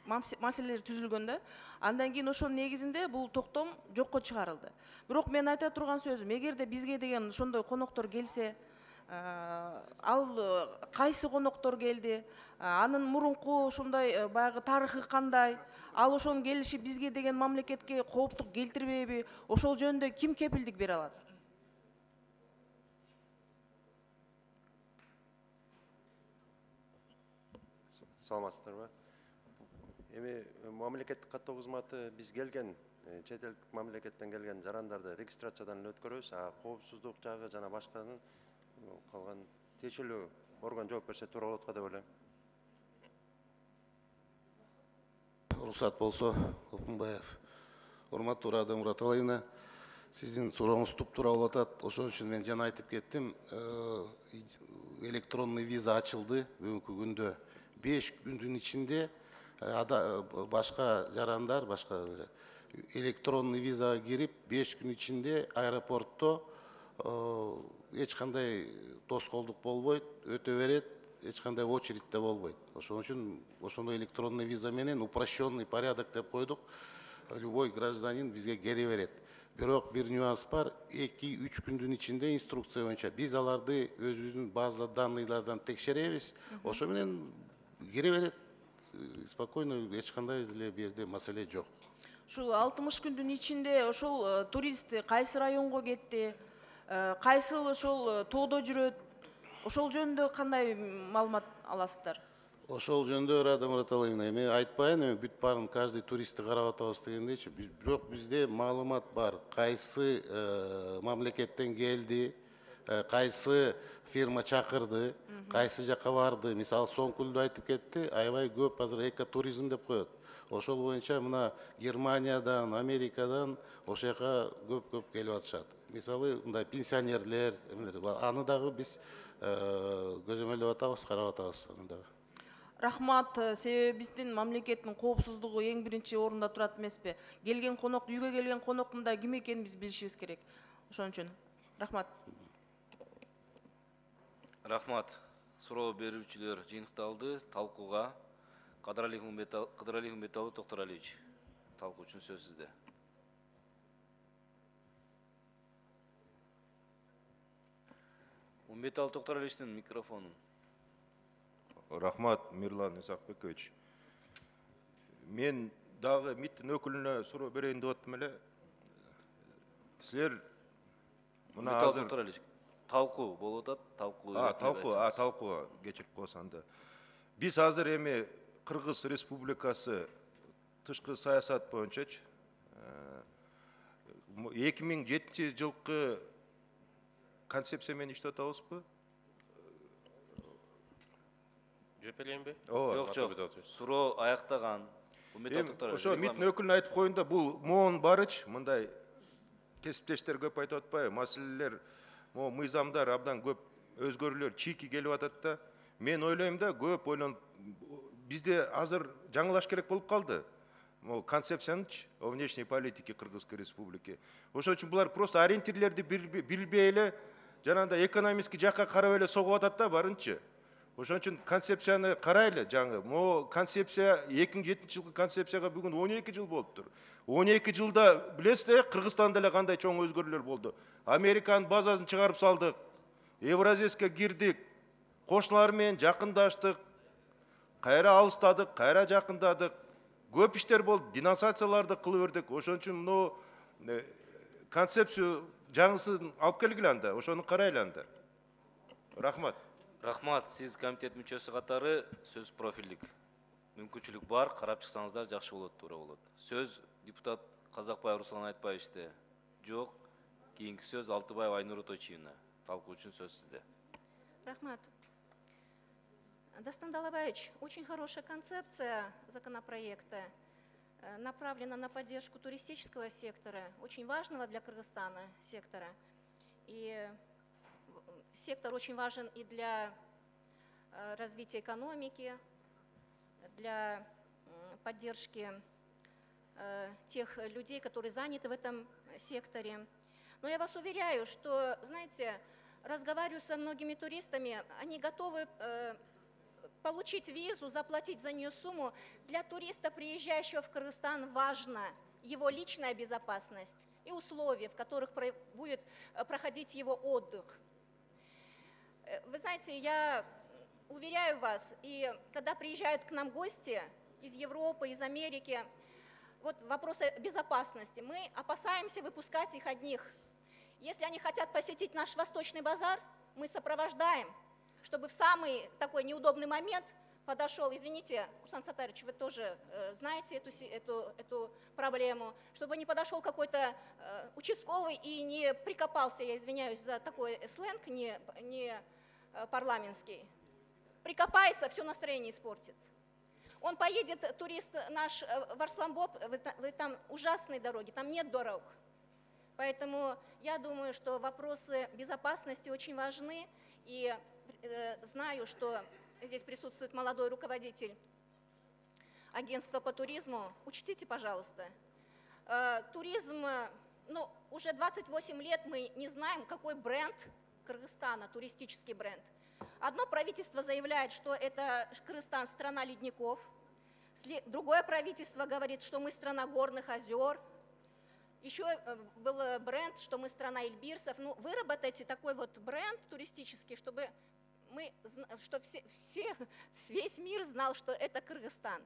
маселелер түзүлгөн да. Андан кийин ошонун негизинде бул токтом жокко чыгарылды. Бирок мен айта турган сөзүм, эгерде бизге деген ошондой коноктор келсе, ал кайсы коноктор келди, анын мурунку ушундай баягы тарыхы кандай, ал ошонун келиши бизге деген мамлекетке кооптук келтирбейби, ошол жөнүндө ким кепилдик бере алат? Саламатсыздарбы? Эми мамлекеттик каттоо кызматы биз келген чет элдик мамлекеттен келген жарандарды регистрациядан өткөрөбүз, а коопсуздук жагы жана башканын калган тиешелүү орган жооп берсе туура болот го деп ойлойм. Уруксат болсо, Опунбаев. Урматтуу Рада Мураталыевна, сиздин сурооңуз туп-туура болуп атат. Ошон үчүн мен жана айтып кеттим, электронный виза ачылды бүгүнкү күндө. беш күндүн ичинде башка жарандар, башка электронный визага кирип, беш күн ичинде аэропортто эч кандай тоскоолдук болбойт, өтө берет, эч кандай очередь болбойт. Ошон үчүн ошондой электронный виза менен упрощенный порядок деп койдук. Любой гражданин бизге келе берет. Бирок бир нюанс бар, эки-үч күндүн ичинде инструкция боюнча биз аларды өзүбүздүн база данныйлардан текшеребиз. Ошо менен келе берет. Спокойно, эч кандай деле бу жерде маселе жок. Ушул алтымыш күндүн ичинде ошол турист кайсы районго кетти, кайсы ошол тоодо жүрөт, ошол жөнүндө кандай маалымат аласыздар? Ошол жөнүндө Рада Мураталыевна, эми айтпайын, эми бүт баарын каждый туристти карап атабыз дегендейчи, бирок бизде маалымат бар, кайсы мамлекеттен келди, кайсы фирма чакырды, кайсы жака барды. Мисалы Соңкүлдү айтып кетти, аябай көп азыр экотуризм деп коет. Ошол боюнча мына Германиядан, Америкадан ошол жака көп-көп келип атышат. Мисалы мындай пенсионерлер, аны дагы биз көзөмөлдөп атабыз, карап атабыз аны дагы. Рахмат, себеби биздин мамлекеттин коопсуздугу эң биринчи орунда турат эмеспи? Келген конок, үйгө келген коноктун да ким экенин биз билишибиз керек. Ошон үчүн рахмат. Рахмат. Суроо берүүчүлөр жыйынтыкталды. Талкууга Кыдыралиев Умбеталы Токтуралиевич, талкуу үчүн сөз сизде. Умбеталы Токтуралиевичтин микрофонун. Рахмат, Мирлан Исакбекович. Мен дагы МИДтин өкүлүнө суроо берейин деп аттым эле. Силер мына азыр талкуу болуп атат, талкуу. А, талкуу, а, талкуу, кечирип коесаң да. Биз азыр эми Кыргыз Республикасы тышкы саясат боюнчачы эки миң жетинчи жылкы концепция менен иштеп атабызбы? Жооп берейинби? Жок, жок. Суроо аяктаган. Ошо МИДтин өкүлүнө айтып коеюн да, бул моон барыч, мындай кесиптештер көп айтып атпайбы, маселелер, могу мыйзамдар абдан көп өзгөрүүлөр чийки келип атат да. Мен ойлойм да, көп ойлонуп, бизде азыр жаңылаш керек болуп калды. Могу концепциянычы о внешней политике Кыргызской Республики. Ошон үчүн булар просто ориентирлерди билбей эле, жанагындай экономический жакка карап эле согуп атат да барынчы. Ошон үчүн концепцияны карайлы жаңы. Могу концепция эки миң жетинчи жылкы концепцияга бүгүн он эки жыл болуптур. он эки жылда билесиз, Кыргызстанда эле кандай чоң өзгөрүүлөр болду. Американын базасын чыгарып салдык, Евразийска кирдик, кошуналар менен жакындаштык, кайра алыстадык, кайра жакындадык. Көп иштер болду, денонсацияларды кылып бердик. Ошон үчүн мына концепция жаңысын алып келгиле анда, ошону карайлы анда. Рахмат. Рахмат, сиз комитет мүчөсү катары сөз профилдик. Мүмкүнчүлүк бар, карап чыксаңыздар жакшы болот, туура болот. Сөз депутат Казакбаев Руслан Айтбаевичте. Жок, кийинки сөз Алтыбаева Айнура Тойчиевна. Талкуу үчүн сөз сизде. Рахмат. Дастан Далабаевич, очень хорошая концепция законопроекта, направлена на поддержку туристического сектора, очень важного для Кыргызстана сектора. И сектор очень важен и для развития экономики, для поддержки тех людей, которые заняты в этом секторе. Но я вас уверяю, что, знаете, разговариваю со многими туристами, они готовы получить визу, заплатить за нее сумму. Для туриста, приезжающего в Кыргызстан, важна его личная безопасность и условия, в которых будет проходить его отдых. Вы знаете, я уверяю вас, и когда приезжают к нам гости из Европы, из Америки, вот вопросы безопасности, мы опасаемся выпускать их одних. Если они хотят посетить наш Восточный базар, мы сопровождаем, чтобы в самый такой неудобный момент подошел, извините, Курсан Сатарович, вы тоже э, знаете эту, эту, эту проблему, чтобы не подошел какой-то э, участковый и не прикопался, я извиняюсь за такой сленг, не, не э, парламентский, прикопается, все настроение испортится. Он поедет, турист наш в Арсланбоб, вы, вы, там ужасные дороги, там нет дорог. Поэтому я думаю, что вопросы безопасности очень важны, и э, знаю, что здесь присутствует молодой руководитель агентства по туризму. Учтите, пожалуйста, э, туризм, ну, уже двадцать восемь лет мы не знаем, какой бренд Кыргызстана, туристический бренд. Одно правительство заявляет, что это Кыргызстан страна ледников, другое правительство говорит, что мы страна горных озер. Еще был бренд, что мы страна Эльбирсов. Ну, выработайте такой вот бренд туристический, чтобы мы, что все, все, весь мир знал, что это Кыргызстан.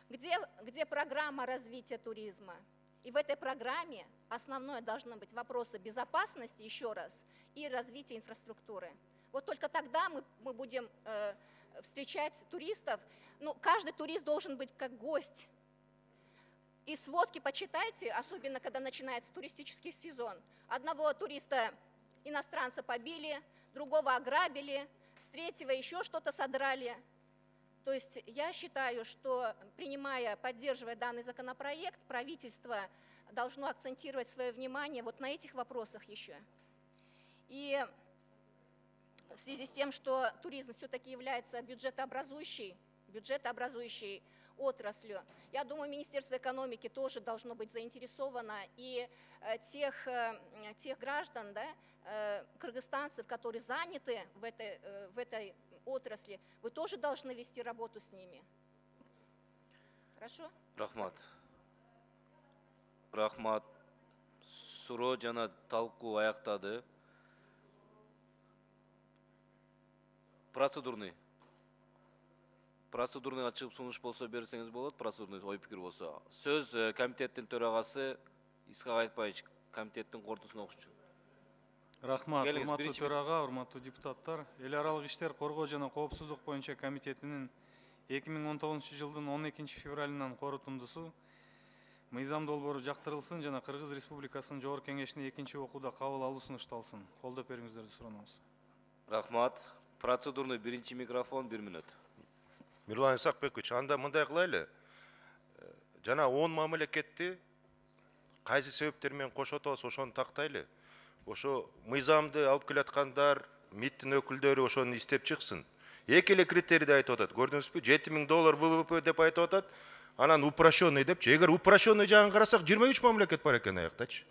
Где, где программа развития туризма? И в этой программе основное должно быть вопросы безопасности, еще раз, и развития инфраструктуры. Вот только тогда мы, мы будем э, встречать туристов. Ну, каждый турист должен быть как гость. И сводки почитайте, особенно когда начинается туристический сезон. Одного туриста иностранца побили, другого ограбили, с третьего еще что-то содрали. То есть я считаю, что, принимая, поддерживая данный законопроект, правительство должно акцентировать свое внимание вот на этих вопросах еще. И в связи с тем, что туризм все-таки является бюджетообразующей, бюджетообразующей отраслью. Я думаю, Министерство экономики тоже должно быть заинтересовано, и э, тех, э, тех граждан, да, э, кыргызстанцев, которые заняты в этой, э, в этой отрасли, вы тоже должны вести работу с ними. Хорошо? Рахмат. Рахмат. Суроо жана талкуу аяктады. Процедурный. Процедурный ачык сунуш болсо берсеңиз болот, процедурный ой пикир болсо. Сөз э, комитеттин төрагасы Исхак Айтбаевич, комитеттин кортусун окучу. Рахмат, Келиңиз, урматтуу биринчи төрага, урматтуу депутаттар. Эл аралык иштер коргоо жана коопсуздук боюнча комитетинин эки миң он тогузунчу жылдын он экинчи февралынан корутундусу мыйзам долбоору жактырылсын жана Кыргыз Республикасынын Жогорку Кеңешине экинчи окууда кабыл алуу сунушталсын. Колдоп бериңиздерди суранабыз. Рахмат. Процедурный биринчи микрофон бир мүнөт. Мирлан Исакбекович, анда мындай кылайлы. Жана он мамлекетти кайсы себептер менен кошот алса ошону тактайлы. Ошо мыйзамды алып келаткандар, МИДтин өкүлдөрү ошону иштеп чыксын. Эки эле критерийди айтып атат. Көрдүңүзбү? жети миң доллар вэ вэ пэ деп айтып атат. Анан упрощенный депчи. Эгер упрощенный жагын карасак, жыйырма үч мамлекет бар экен аяктачы.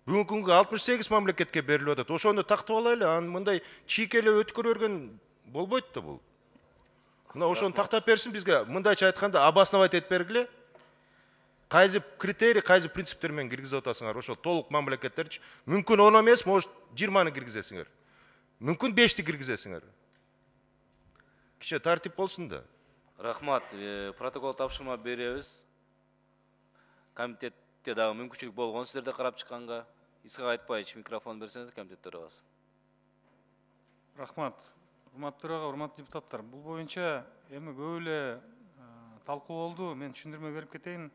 Бүгүнкү күнгө алтымыш сегиз мамлекетке берилип атат. Ошону тактып алайлы. Анан мындай чийкеле өткөрө берген болбойт да бул. Мына ошону тактап берсин бизге. Мындайча айтканда обосновать этип бергиле. Кайсы критерий, кайсы принциптер менен киргизип атасыңар? Ошо толук мамлекеттерчи. Мүмкүн он эмес, может жыйырманы киргизесиңер. Мүмкүн бешти киргизесиңер. Киче тартип болсун да. Рахмат. Протокол тапшырма беребиз. Комитетте дагы мүмкүнчүлүк болгон сиздерде карап чыкканга. Исхак Айтбаевич, микрофон берсеңиз, комитет төрагасы. Рахмат. Урматтуу төрага, урматтуу депутаттар. Бул боюнча эми көп эле талкуу болду. Мен түшүндүрмө берип кетейин.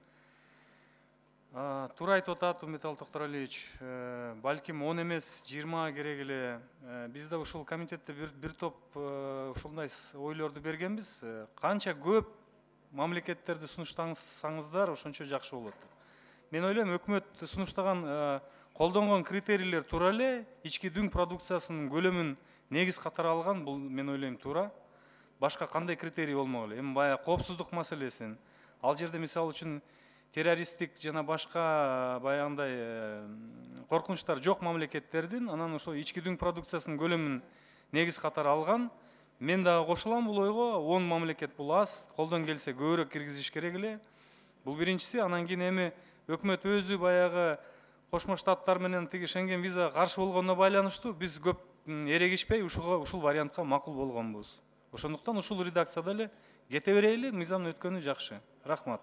Туура айтып атат Металл Токторалиевич, балким он эмес, жыйырма керек эле. Биз да ушул комитетте бир, бир топ ушундай ойлорду бергенбиз. Канча көп мамлекеттерди сунуштасаңыздар, ошончо жакшы болот. Мен ойлойм, өкмөт сунуштаган колдонгон критерийлер туура эле, ички дүң продукциясынын көлөмүн негиз катары алган, бул мен ойлойм туура. Башка кандай критерий болмок эле? Эми баягы коопсуздук маселесин, ал жерде мисалы үчүн террористтик жана башка баягындай коркунучтар жок мамлекеттердин анан ошо ички дүң продукциясынын көлөмүн негиз катары алган. Мен дагы кошулам бул ойго. он мамлекет бул аз, колдон келсе көбүрөөк киргизиш керек эле. Бул биринчиси. Анан кийин эми өкмөт өзү баягы Кошмо Штаттар менен тиги Шенген визага каршы болгонуна байланыштуу биз көп эрегишпей ушул ушул вариантка макул болгонбуз. Ошондуктан ушул редакцияда эле кете берели, мыйзам өткөнү жакшы. Рахмат.